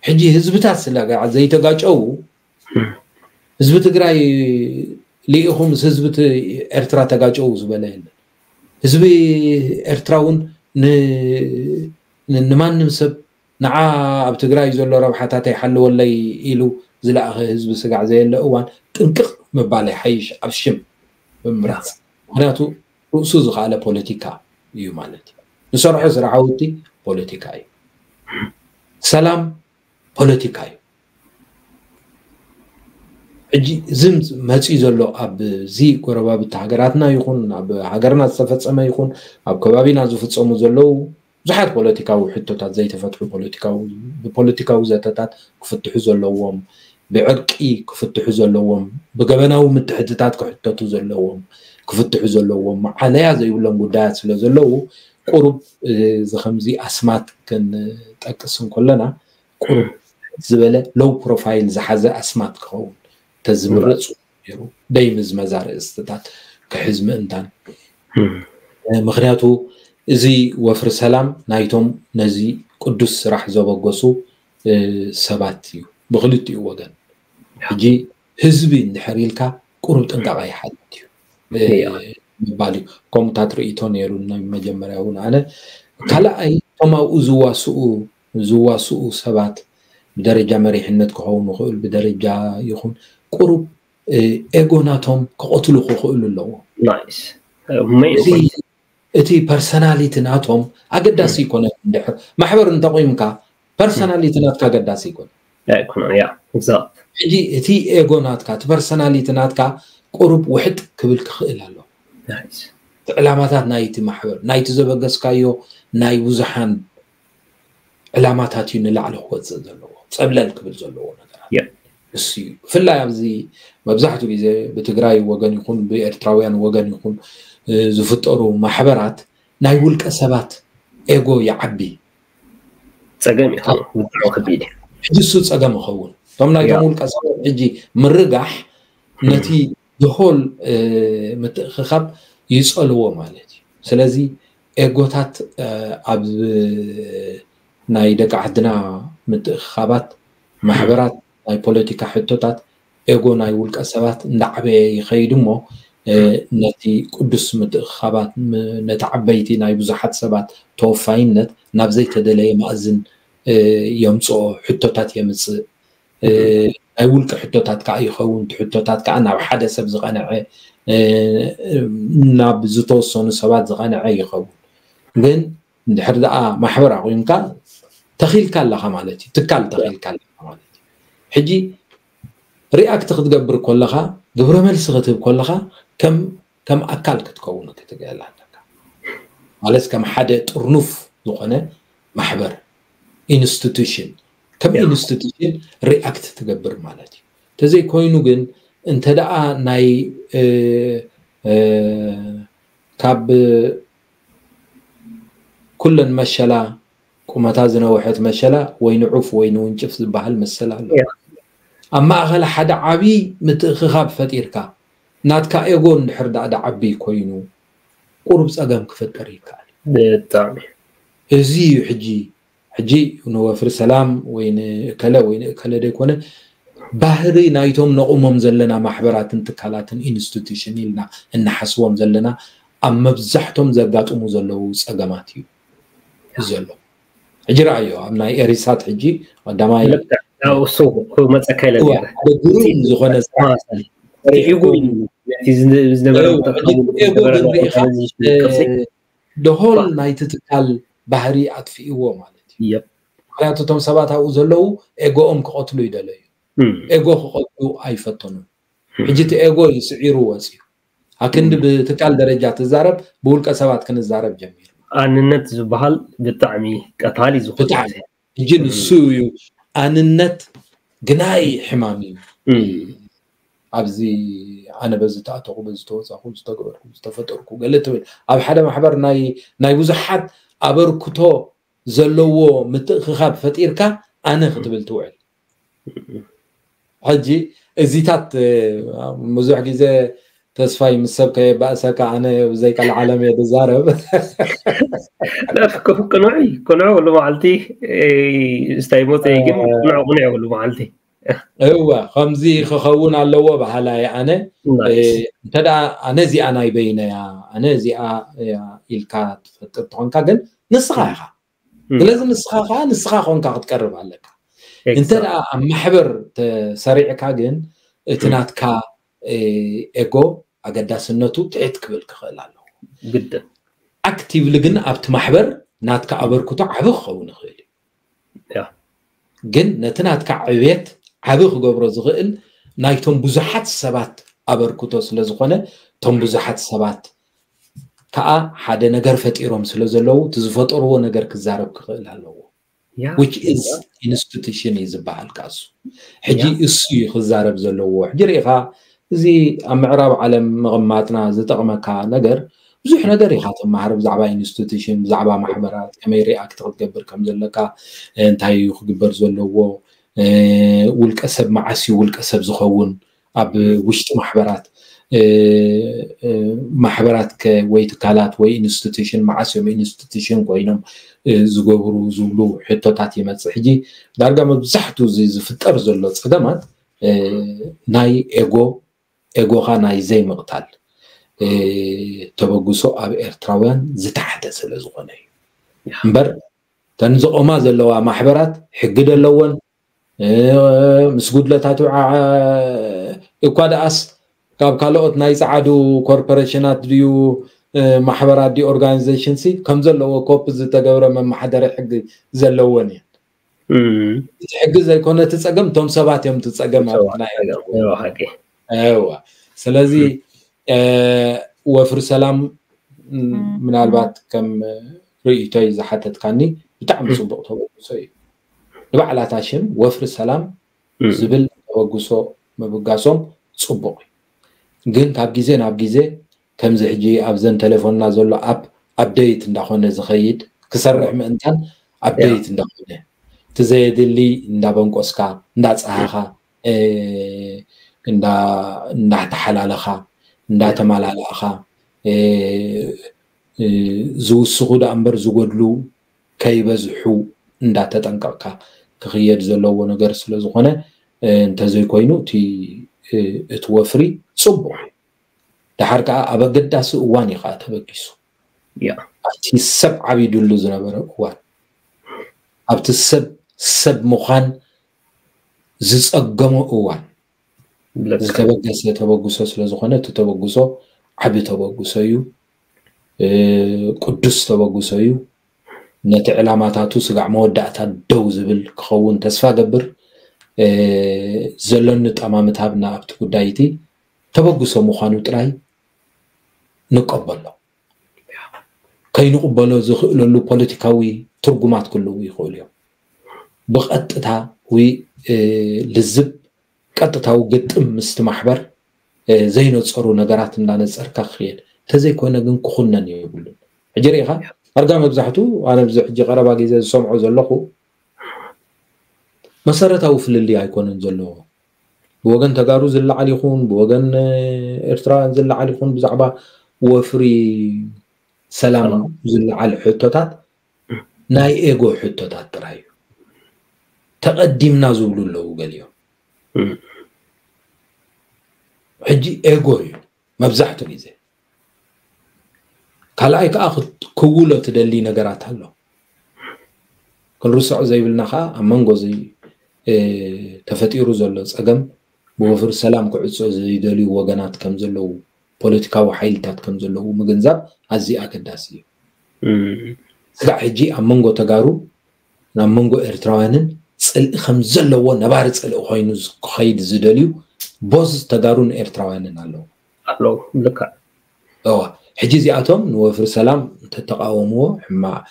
ሕጂ ህዝብታት ስለ ዘይተጋጨው ህዝቢ ትግራይ ልኢኹ ምስ ህዝቢ ኤርትራ ተጋጨው ዝበለ የለን። ህዝቢ ኤርትራ እውን ንማንም ሰብ ንዓ ኣብ ትግራይ ዘሎ ረብሓታተይ ሓልወለይ ኢሉ ዝለኣኸ ህዝቢ ስጋዕ ዘየለ እዋን ጥንቅቕ ምባል ይሓይሽ ኣብ ሽም ምምራፅ ምክንያቱ ርእሱ ዝኸኣለ ፖለቲካ እዩ ማለት እዩ። ንሰርሖ ስራሕ ውቲ ፖለቲካ እዩ። ሰላም ፖለቲካ እዩ። ሕጂ እዚ መፅኡ ዘሎ ኣብዚ ጎረባብቲ ሃገራትና ይኹን ኣብ ሃገርና ዝተፈፀመ ይኹን ኣብ ከባቢና ዝፍፀሙ ዘለዉ ብዙሓት ፖለቲካዊ ሕቶታት ዘይተፈትሑ ፖለቲካዊ ብፖለቲካዊ ዘተታት ክፍትሑ ዘለዎም ብዕርቂ ክፍትሑ ዘለዎም ብገበናዊ ምትሕትታት ክሕተቱ ዘለዎም ክፍትሑ ዘለዎም መዓለያ ዘይብሎም ጉዳያት ስለ ዘለዉ ቁሩብ እዚ ከምዚ ኣስማት ክንጠቅስ እንከለና ቁሩብ ዝበለ ሎው ፕሮፋይል ዝሓዘ ኣስማት ክኸውን ተዝምረፅ ነይሩ ደይምዝመዝ ኣርእስትታት ክሕዝ ምእንታን ምክንያቱ እዚ ወፍሪ ሰላም ናይቶም ነዚ ቅዱስ ስራሕ ዘበገሱ ሰባት እዩ ብክልቲኡ ወገን ሕጂ ህዝቢ እንድሕር ኢልካ ቁሩብ ጥንቃቐ ይሓትት እዩ ምባል እዩ። ከምኡታት ርእይቶ ነይሩ ናይ መጀመርያ እውን ኣነ ካልኣይ እቶም ኣብኡ ዝዋስኡ ዝዋስኡ ሰባት ብደረጃ መሪሕነት ክኸውን ይኽእል ብደረጃ ይኹን ቁሩብ ኤጎ ናቶም ክቐትሉ ክኽእሉ ኣለዎ። እቲ ፐርሰናሊቲ ናቶም ኣገዳሲ ይኮነ እንድሕር ማሕበር እንተቆይምካ ፐርሰናሊቲ ናትካ ኣገዳሲ ይኮነ። ሕጂ እቲ ኤጎ ናትካ እቲ ፐርሰናሊቲ ናትካ ቁሩብ ውሕጥ ክብል ክኽእል ኣሎ። እቲ ዕላማታት ናይቲ ማሕበር ናይቲ ዘበገስካዮ ናይ ብዙሓን ዕላማታት እዩ ንላዕሊ ክወፅእ ዘለዎ ፀብለል ክብል ዘለዎ ነገራት እሱ እዩ። ብፍላይ ኣብዚ መብዛሕትኡ ግዜ ብትግራይ ወገን ይኹን ብኤርትራውያን ወገን ይኹን ዝፍጠሩ ማሕበራት ናይ ውልቀ ሰባት ኤጎ ይዓቢ። ፀገም እዩ ከቢድ እዩ። ሕጂ እሱ ፀገም ይኸውን። እቶም ናይቶም ውልቀ ሰባት ሕጂ ምርጋሕ ነቲ the whole ምትእኽኻብ ይጸልዎ ማለት እዩ። ስለዚ ኤጎታት ኣብ ናይ ደቂ ዓድና ምትእኽኻባት፣ ማሕበራት፣ ናይ ፖለቲካ ሕቶታት ኤጎ ናይ ውልቀ ሰባት እንዳዓበየ ይኸይድ እሞ ነቲ ቅዱስ ምትእኽኻባት ነቲ ዓበይቲ ናይ ብዙሓት ሰባት ተወፋይነት ናብ ዘይተደለየ ማእዝን የምፅኦ፣ ሕቶታት የምፅእ። ናይ ውልቂ ሕቶታት ከዓ ይኸውን። እቲ ሕቶታት ከዓ ናብ ሓደ ሰብ ዝቐንዐ ናብ ዝተወሰኑ ሰባት ዝቐንዐ ይኸውን። ግን እንድሕር ደኣ ማሕበር ኣቑምካ ተኺልካ ኣለኻ ማለት እዩ። ትካል ተኺልካ ኣለኻ ማለት እዩ። ሕጂ ሪኣክት ክትገብር ከለኻ፣ ግብረ መልሲ ክትህብ ከለኻ ከም ከም ኣካል ክትከውን ክትክእል ኣለካ። ማለት ከም ሓደ ጥርኑፍ ዝኾነ ማሕበር፣ ኢንስቲቱሽን፣ ከም ኢንስቲቱሽን ሪኣክት ትገብር ማለት እዩ። ተዘይኮይኑ ግን እንተ ደኣ ናይ ካብ ኩለን መሸላ ቁመታ ዝነውሐት መሸላ ወይ ንዑፍ ወይ ንውንጭፍ ዝበሃል መሰል ኣሎ። ኣብ ማእኸል ሓደ ዓብዪ ምትእኽኻብ ፈጢርካ ናትካ ኤጎ እንድሕር ደኣ ደዓቢ ኮይኑ ቁሩብ ፀገም ክፈጥር ይከኣል። ብጣዕሚ እዚ እዩ ሕጂ ሕጂ ንወፍሪ ሰላም ወይ ንእከለ ወይ ንእከለ ዘይኮነ ባህሪ ናይቶም ነቑሞም ዘለና ማሕበራትን ትካላትን ኢንስቲቱሽን ኢልና እንሓስቦም ዘለና ኣብ መብዛሕቶም ዘጋጥሙ ዘለዉ ፀገማት እዩ ዘሎ። ሕጂ ረኣዮ ኣብ ናይ ኤሪሳት ሕጂ ቀዳማይ እሱ ክመፀካ ኢለ ሓደ ግሩም ዝኾነ ስራሕ ሪኢጎ ነቲ ዝነበረ ሪኢጎ ግን ሪኢኻ ደሆል ናይቲ ትካል ባህሪ ኣጥፊእዎ ማለት እዩ። ምክንያቱ እቶም ሰባት ኣብኡ ዘለዉ ኤጎኦም ክቐትሉ ይደለዩ። ኤጎ ክቐትሉ ኣይፈተኑን። ሕጂ እቲ ኤጎ እዩ ስዒሩ ወፅዩ። ኣክንዲ ብትካል ደረጃ ትዛረብ ብውልቀ ሰባት ክንዛረብ ጀሚሩ። ኣንነት ዝበሃል ብጣዕሚ ቀታሊ ዝኾነ ብጣዕሚ ሕጂ ንሱ እዩ ኣንነት ግናይ ሕማም እዩ። ኣብዚ ኣነ በዚ ተኣተኹ በዚ ተወፃኹ ዝተገበርኩ ዝተፈጠርኩ ገለ ትብል ኣብ ሓደ ማሕበር ናይ ናይ ብዙሓት ኣበርክቶ ዘለዎ ምትእኽኻብ ፈጢርካ ኣነ ክትብል ትውዕል። ሕጂ እዚታት ብዙሕ ግዜ ተስፋይ ምስ ሰብ ከየባእሰካ ኣነ ብዘይ ቀልዓለም እየ ዝዛረብ። ቅኑዕ ቅኑዕ ኩሉ መዓልቲ ስታይ ሞፀ ግን ቅኑዕ ቅኑዕ ኩሉ መዓልቲ እወ ከምዚ ክኸውን ኣለዎ በሃላይ ኣነ እንተ ደኣ ኣነ እዚኣ ናይ በይነያ ኣነ እዚኣ ኢልካ ትፈጥር ትኾንካ ግን ንስኻ ኢኻ ስለዚ ንስኻ ከዓ ንስኻ ኮንካ ክትቀርብ ኣለካ። እንተ ደኣ ኣብ ማሕበር ተሰሪዕካ ግን እቲ ናትካ ኤጎ ኣገዳስነቱ ትሕት ክብል ክኽእል ኣለዎ። ግድን ኣክቲቭሊ ግን ኣብቲ ማሕበር ናትካ ኣበርክቶ ዓቢ ክኸውን ይኽእል እዩ። ግን ነቲ ናትካ ዕብየት ዓቢ ክገብሮ ዝኽእል ናይቶም ብዙሓት ሰባት ኣበርክቶ ስለ ዝኾነ እቶም ብዙሓት ሰባት ከዓ ሓደ ነገር ፈጢሮም ስለ ዘለዉ እቲ ዝፈጠርዎ ነገር ክዛረብ ክኽእል ኣለዎ። which is institution እዩ ዝበሃል ካሱ ሕጂ እሱ እዩ ክዛረብ ዘለዎ። ሕጂ ርኢኻ እዚ ኣብ ምዕራብ ዓለም ምቕማጥና ዝጠቕመካ ነገር ብዙሕ ነገር ኢኻ ትመሃር ብዛዕባ ኢንስቲቱሽን ብዛዕባ ማሕበራት ከመይ ሪኣክት ክትገብር ከም ዘለካ እንታይ እዩ ክግበር ዘለዎ ውልቀ ሰብ መዓስ እዩ ውልቀ ሰብ ዝኸውን ኣብ ውሽጢ ማሕበራት ማሕበራት ወይ ትካላት ወይ ኢንስቲቱሽን መዓስ እዮም ኢንስቲቱሽን ኮይኖም ዝገብሩ ዝብሉ ሕቶታት ይመፅእ። ሕጂ ዳርጋ መብዛሕቱ እዚ ዝፍጠር ዘሎ ፀገማት ናይ ኤጎ ኤጎኻ ናይ ዘይምቕታል ተበግሶ ኣብ ኤርትራውያን ዝተሓተ ስለ ዝኾነ እዩ እምበር እተን ዝቆማ ዘለዋ ማሕበራት ሕጊ ደለወን ምስ ጉድለታቱ እኳ ደኣስ ካብ ካልኦት ናይ ጸዓዱ ኮርፖሬሽናት ድዩ ማሕበራት ድዩ ኦርጋናይዜሽን ሲ ከም ዘለዎ ኮፕ ዝተገብረ መመሓደሪ ሕጊ ዘለወን እየን። እቲ ሕጊ ዘይኮነ እቲ ጸገም እቶም ሰባት እዮም እቲ ጸገም ዋ ስለዚ ወፍሪ ሰላም ምናልባት ከም ርእይቶይ ዝሓተትካኒ ብጣዕሚ ፅቡቅ ተበግሶ እዩ። ንባዕላታ ሽም ወፍሪ ሰላም ዝብል ተበግሶ ምብጋሶም ፅቡቅ እዩ። ግን ካብ ግዜ ናብ ግዜ ከምዚ ሕጂ ኣብዘን ቴሌፎንና ዘሎ ኣፕ ኣፕደይት እንዳኾነ ዝኸይድ ክሰርሕ ምእንታን ኣፕደይት እንዳኾነ እቲ ዘየድሊ እንዳበንቆስካ እንዳፀሃኻ እንዳተሓላለኻ እንዳተመላላእኻ ዝውስኹ ደኣ እምበር ዝጎድሉ ከይበዝሑ እንዳተጠንቀቕካ ክኽየድ ዘለዎ ነገር ስለ ዝኾነ፣ እንተዘይኮይኑ እቲ እቲ ወፍሪ ጽቡቕ እዩ። ደሓር ከኣ ኣብ ኣገዳሲ እዋን እዩ ከኣ ተበጊሱ። ኣብቲ ሰብ ዓቢዱሉ ዝነበረ እዋን፣ ኣብቲ ሰብ ሰብ ምዃን ዝጸገሞ እዋን ዝተበገሰ ተበግሶ ስለ ዝኾነ፣ እቲ ተበግሶ ዓቢ ተበግሶ እዩ። ቅዱስ ተበግሶ እዩ። ነቲ ዕላማታቱ ስጋዕ መወዳእታ ደው ዝብል ክኸውን ተስፋ ገብር። ዘለኒ ጠማምታ ኣብና ኣብቲ ጉዳይ እቲ ተበግሶ ምዃኑ ጥራይ ንቀበሎ። ከይንቕበሎ ዝኽእለሉ ፖለቲካዊ ትርጉማት ክህልዉ ይኽእሉ እዮም። ብቐጥታ ወይ ልዝብ ቀጥታዊ ግጥም ምስቲ ማሕበር ዘይነጸሩ ነገራት እንዳነጸርካ ክኽየድ፣ እንተዘይኮነ ግን ክኹነን የብሉን። ሕጂ ርኢኻ፣ ኣርጋ መብዛሕቱ ኣነ ኣብዚ ሕጂ ቀረባ ግዜ ዝሰምዖ ዘለኹ መሰረታዊ ፍልልይ ኣይኮነን ዘለዎ። ብወገን ተጋሩ ዝለዓል ይኹን ብወገን ኤርትራውያን ዝለዓል ይኹን ብዛዕባ ወፍሪ ሰላም ዝለዓል ሕቶታት ናይ ኤጎ ሕቶታት ጥራይ እዩ። ተቐዲምና ዝብሉ ኣለዉ ገሊኦም። ሕጂ ኤጎ እዩ መብዛሕቱ ግዜ። ካልኣይ ከዓ ክውሎ ትደሊ ነገራት ኣሎ። ክንርስዖ ዘይብልና ከዓ ኣብ መንጎ እዚ ተፈጢሩ ዘሎ ፀገም ብወፍሪ ሰላም ክዕጾ ዘይደልዩ ወገናት ከም ዘለዉ፣ ፖለቲካዊ ሓይልታት ከም ዘለዉ ምግንዛብ ኣዝዩ ኣገዳሲ እዩ። ስጋዕ ሕጂ ኣብ መንጎ ተጋሩ ናብ መንጎ ኤርትራውያንን ጽልኢ ከም ዘለዎ ነባሪ ጽልኢ ኮይኑ ክኸይድ ዝደልዩ ቦዝ ተጋሩን ኤርትራውያንን ኣለዉ። ኣለዉ። ልክዕ። እዋ ሕጂ እዚኣቶም ንወፍሪ ሰላም እንተተቃወምዎ ሕማቕ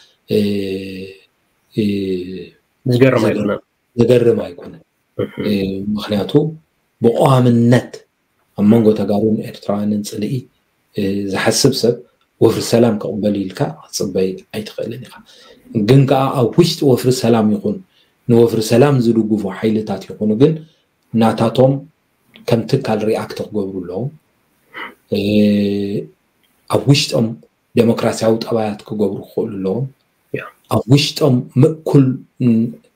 ዝገርም ኣይኮነን። ዘገርም ኣይኮነን። ምክንያቱ ብቀዋምነት ኣብ መንጎ ተጋሩን ኤርትራውያንን ጽልኢ ዝሓስብ ሰብ ወፍሪ ሰላም ክቕበል ኢልካ ክትጽበይ ኣይትኽእልን ኢኻ። ግን ከኣ ኣብ ውሽጢ ወፍሪ ሰላም ይኹን ንወፍሪ ሰላም ዝድግፉ ሓይልታት ይኹኑ ግን ናታቶም ከም ትካል ሪኣክት ክገብሩ ኣለዎም። ኣብ ውሽጦም ዴሞክራሲያዊ ጠባያት ክገብሩ ክኽእሉ ኣለዎም። ኣብ ውሽጦም ምእኩል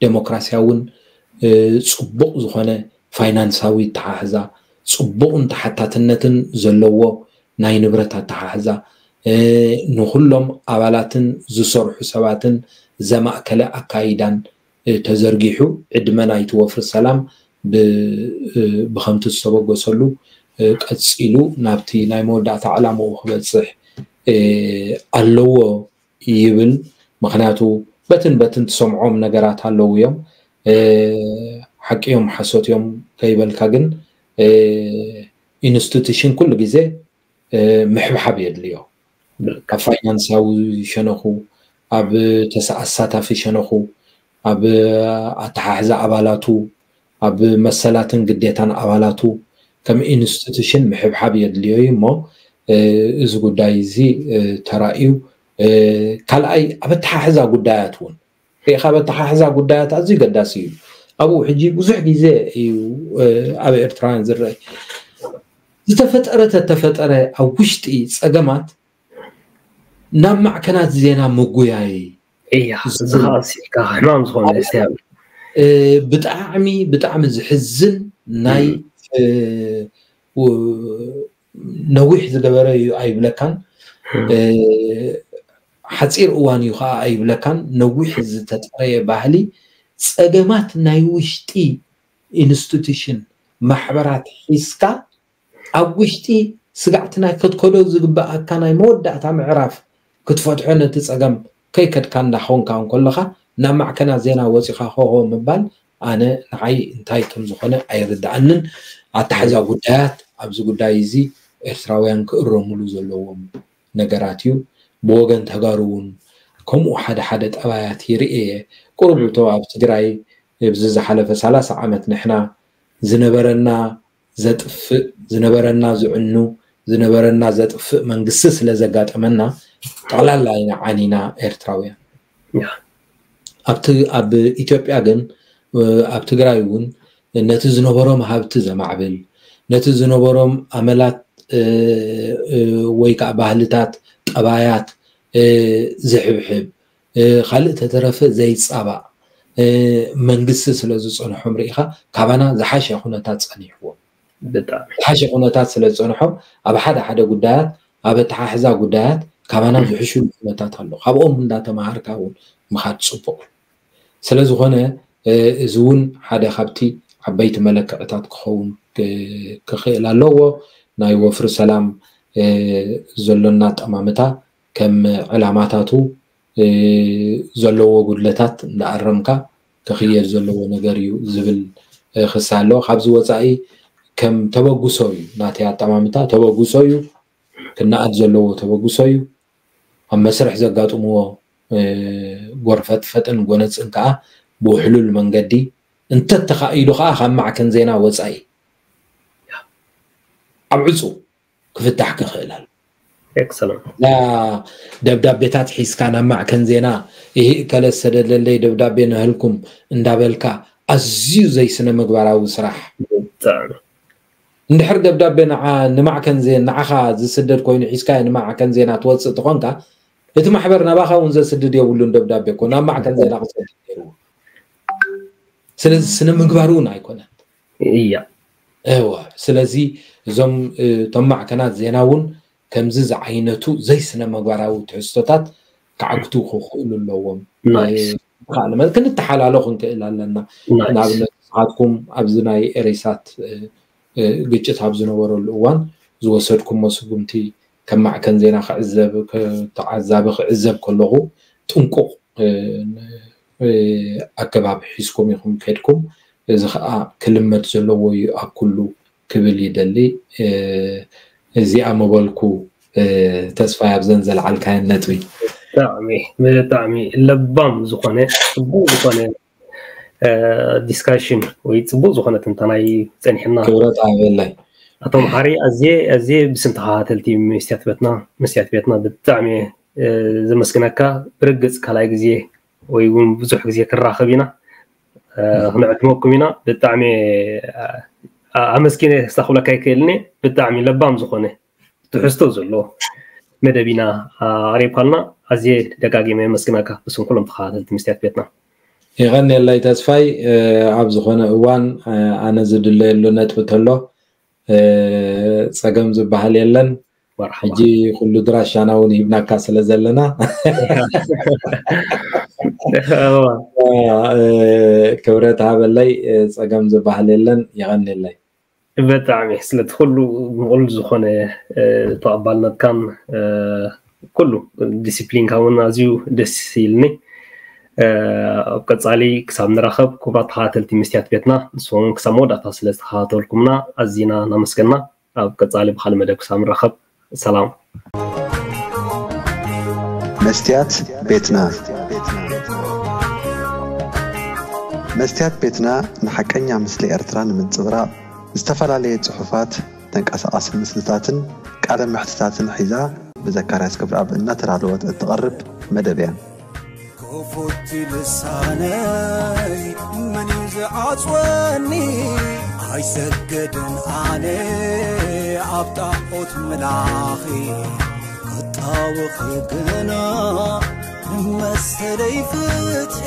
ዴሞክራሲያውን ጽቡቕ ዝኾነ ፋይናንሳዊ ኣተሓሕዛ፣ ጽቡቕን ተሓታትነትን ዘለዎ ናይ ንብረት ኣተሓሕዛ፣ ንኹሎም ኣባላትን ዝሰርሑ ሰባትን ዘማእከለ ኣካይዳን ተዘርጊሑ፣ ዕድመ ናይቲ ወፍሪ ሰላም ብኸምቲ ዝተበገሰሉ ቀጺሉ ናብቲ ናይ መወዳእታ ዕላምኡ ክበጽሕ ኣለዎ ይብል። ምኽንያቱ በትን በትን ትሰምዖም ነገራት ኣለዉ እዮም። ሓቂ እዮም ሓሶት እዮም ከይበልካ ግን ኢንስቲቱሽን ኩሉ ግዜ ምሕብሓብ የድልዮ። ኣብ ፋይናንሳዊ ሸነኹ፣ ኣብ ኣሳታፊ ሸነኹ፣ ኣብ ኣተሓሕዛ ኣባላቱ፣ ኣብ መሰላትን ግዴታን ኣባላቱ ከም ኢንስቲቱሽን ምሕብሓብ የድልዮ እዩ እሞ እዚ ጉዳይ እዚ ተራእዩ ካልኣይ ኣብ ኣተሓሕዛ ጉዳያት እውን ርኢኻ ኣብ ኣተሓሕዛ ጉዳያት ኣዝዩ ገዳሲ እዩ። ኣብኡ ሕጂ ብዙሕ ግዜ እዩ ኣብ ኤርትራውያን ዝረአ ዝተፈጠረ ተተፈጠረ ኣብ ውሽጢ ፀገማት ናብ ማዕከናት ዜና ምጉያይ እያ እዚ ከዓ ሲልካ ሕማም ዝኾነ ስያብ ብጣዕሚ ብጣዕሚ ዝሕዝን ናይ ነዊሕ ዝገበረ እዩ ኣይብለካን ሓፂር እዋን እዩ ከዓ ኣይብለካን ነዊሕ ዝተፀረየ ባህሊ ፀገማት ናይ ውሽጢ ኢንስቲቱሽን ማሕበራት ሒዝካ ኣብ ውሽጢ ስጋዕቲ ናይ ከትከዶ ዝግበኣካ ናይ መወዳእታ ምዕራፍ ክትፈትሖ ነቲ ፀገም ከይከድካ እንዳኾንካ እንከለኻ ናብ ማዕከናት ዜና ወፂኻ ሆሆ ምባል ኣነ ንዓይ እንታይ ከም ዝኾነ ኣይርድኣንን። ኣተሓሕዛ ጉዳያት ኣብዚ ጉዳይ እዚ ኤርትራውያን ክእረምሉ ዘለዎም ነገራት እዩ። ብወገን ተጋሩ እውን ከምኡ ሓደ ሓደ ጠባያት ይርኢ እየ። ቁሩብ እቶ ኣብ ትግራይ ኣብዚ ዝሓለፈ ሰላሳ ዓመት ንሕና ዝነበረና ዘጥፍእ ዝነበረና ዝዕኑ ዝነበረና ዘጥፍእ መንግስቲ ስለ ዘጋጠመና ጠቕላላ ኢና ዓኒና ኤርትራውያን። ኣብቲ ኣብ ኢትዮጵያ ግን ኣብ ትግራይ እውን ነቲ ዝነበሮም ሃብቲ ዘማዕብል ነቲ ዝነበሮም ኣመላት ወይ ከዓ ባህልታት፣ ጠባያት ዝሕብሕብ፣ ካልእ ተተረፈ ዘይፃባእ፣ መንግስቲ ስለ ዝፀንሖም ርኢኻ፣ ካባና ዝሓሸ ኩነታት ፀኒሕዎም። ዝሓሸ ኩነታት ስለ ዝፀንሖም፣ ኣብ ሓደ ሓደ ጉዳያት፣ ኣብ ኣተሓሕዛ ጉዳያት ካባና ዝሕሽሉ ኩነታት ኣሎ። ካብኦም እንዳተማሃርካ እውን ምኻድ ፅቡቕ እዩ። ስለ ዝኾነ እዚ እውን ሓደ ካብቲ ዓበይቲ መለክዕታት ክኸውን ክኽእል ኣለዎ። ናይ ወፍሪ ሰላም ዘሎና ኣጠማምታ ከም ዕላማታቱ ዘለዎ ጉድለታት እንዳኣረምካ ክኽየድ ዘለዎ ነገር እዩ ዝብል ክሳ ኣሎ። ካብዚ ወፃኢ ከም ተበግሶ እዩ ናተይ ኣጠማምታ፣ ተበግሶ እዩ፣ ክነኣድ ዘለዎ ተበግሶ እዩ። ኣብ መስርሕ ዘጋጥምዎ ጎርፈጥፈጥን ጎነፅን ከዓ ብውሕሉል መንገዲ እንተተኻኢሉ ከዓ ካብ ማዕከን ዜና ወፃኢ ኣብ ዕፁ ክፍታሕ ክኽእል ኣሎ። ኤክሰለንት። እዛ ደብዳቤታት ሒዝካ ናብ ማዕከን ዜና ይህ እከለ ዝሰደደለይ ደብዳቤ ንህልኩም እንዳበልካ ኣዝዩ ዘይስነ ምግባራዊ ስራሕ። ብጣዕሚ እንድሕር ደብዳቤ ንዓ- ንማዕከን ዜና ንዓኻ ዝስደድ ኮይኑ ሒዝካ ንማዕከን ዜና ትወፅእ ተኾንካ እቲ ማሕበር ናባኻ እውን ዘስድድ የብሉን። ደብዳቤ እኮ ናብ ማዕከን ዜና ክሰድድ ነይርዎ። ስለዚ ስነ ምግባር እውን ኣይኮነን። እያ እወ ስለዚ እዞም እቶም ማዕከናት ዜና እውን ከምዚ ዝዓይነቱ ዘይስነ ምግባራዊ ትሕዝቶታት ክዓግቱ ክኽእሉ ኣለዎም። ናይስ ካልእ መ- ክንተሓላሎ ክንክእል ኣለና። ናይስ ንኣብነት ንስኻትኩም ኣብዚ ናይ ኤሬሳት እ፣ እ፣ ግጭት ኣብ ዝነበረሉ እዋን ዝወሰድኩሞ ስጉምቲ ከም ማዕከን ዜና ክዕዘብ ክ- ተዓዛቢ ክዕዘብ ከለኹ ጥንቁቕ እ፣ እ፣ ኣገባብ ሒዝኩም ኢኹም ከድኩም። እዚ ከዓ ክልመድ ዘለዎ እዩ ኣብ ኩሉ ክብል ይደሊ። እ፣ እዚኣ ምበልኩ እ፣ ተስፋይ ኣብዘን ዘልዓልካየን ነጥቢ። ብጣዕሚ ብጣዕሚ ለባም ዝኾነ ፅቡቅ ዝኾነ ዲስካሽን ወይ ፅቡቅ ዝኾነ ትንተና እዩ ፀኒሕና። ክብረት ኣበላይ። ኣቶ መሓሪ ኣዝየ ኣዝየ ብስም ተኸታተልቲ መስትያት ቤትና መስትያት ቤትና ብጣዕሚ እየ ዘመስግነካ። ብርግፅ ካልኣይ ግዜ ወይ እውን ብዙሕ ግዜ ክንራኸብ ኢና፣ ክንዕድመኩም ኢና። ብጣዕሚ እየ ኣመስጊነ ክሳኽብለካ ይክእልኒ። ብጣዕሚ ለባም ዝኾነ ትሕዝቶ ዘለዎ መደብ ኢና ኣቕሪብካልና። ኣዝየ ደጋጊመ የመስግነካ ብስም ኩሎም ተኸታተልቲ መስትያት ቤትና። የቐንየለይ ተስፋይ። ኣብ ዝኾነ እዋን ኣነ ዝድለየሉ ነጥቢ ተሎ ጸገም ዝበሃል የለን። ሕጂ ኩሉ ድራሻና እውን ሂብናካ ስለ ዘለና ክብረት ሃበለይ። ጸገም ዝበሃል የለን። የቐንየለይ። ብጣዕሚ ስለቲ ኩሉ ምቕሉል ዝኾነ ተቐባልነትካን ኩሉ ዲሲፕሊንካ እውን ኣዝዩ ደስ ኢልኒ። ኣብ ቀፃሊ ክሳብ ንራኸብ ክቡራት ተኸታተልቲ መስትያት ቤትና ንስኹም ክሳብ መወዳእታ ስለ ዝተኸታተልኩምና ኣዚና እናመስገና ኣብ ቀፃሊ ብካልእ መደብ ክሳብ ንራኸብ ሰላም። መስትያት ቤትና መስትያት ቤትና ንሓቀኛ ምስሊ ኤርትራ ንምንጽብራቕ ዝተፈላለየ ጽሑፋት፣ ተንቀሳቓሲ ምስልታትን ቃለ መሕትታትን ሒዛ ብዘካርያስ ገብረኣብ እናተዳለወት እትቐርብ መደብ እያ። ክፉት ልሳነይ መን እዩ ዝዓጽወኒ? ኣይሰገድን ኣነ ኣብ ጣዖት ምላኺ ክጣወኺ ግና መሰለይ ፍትሒ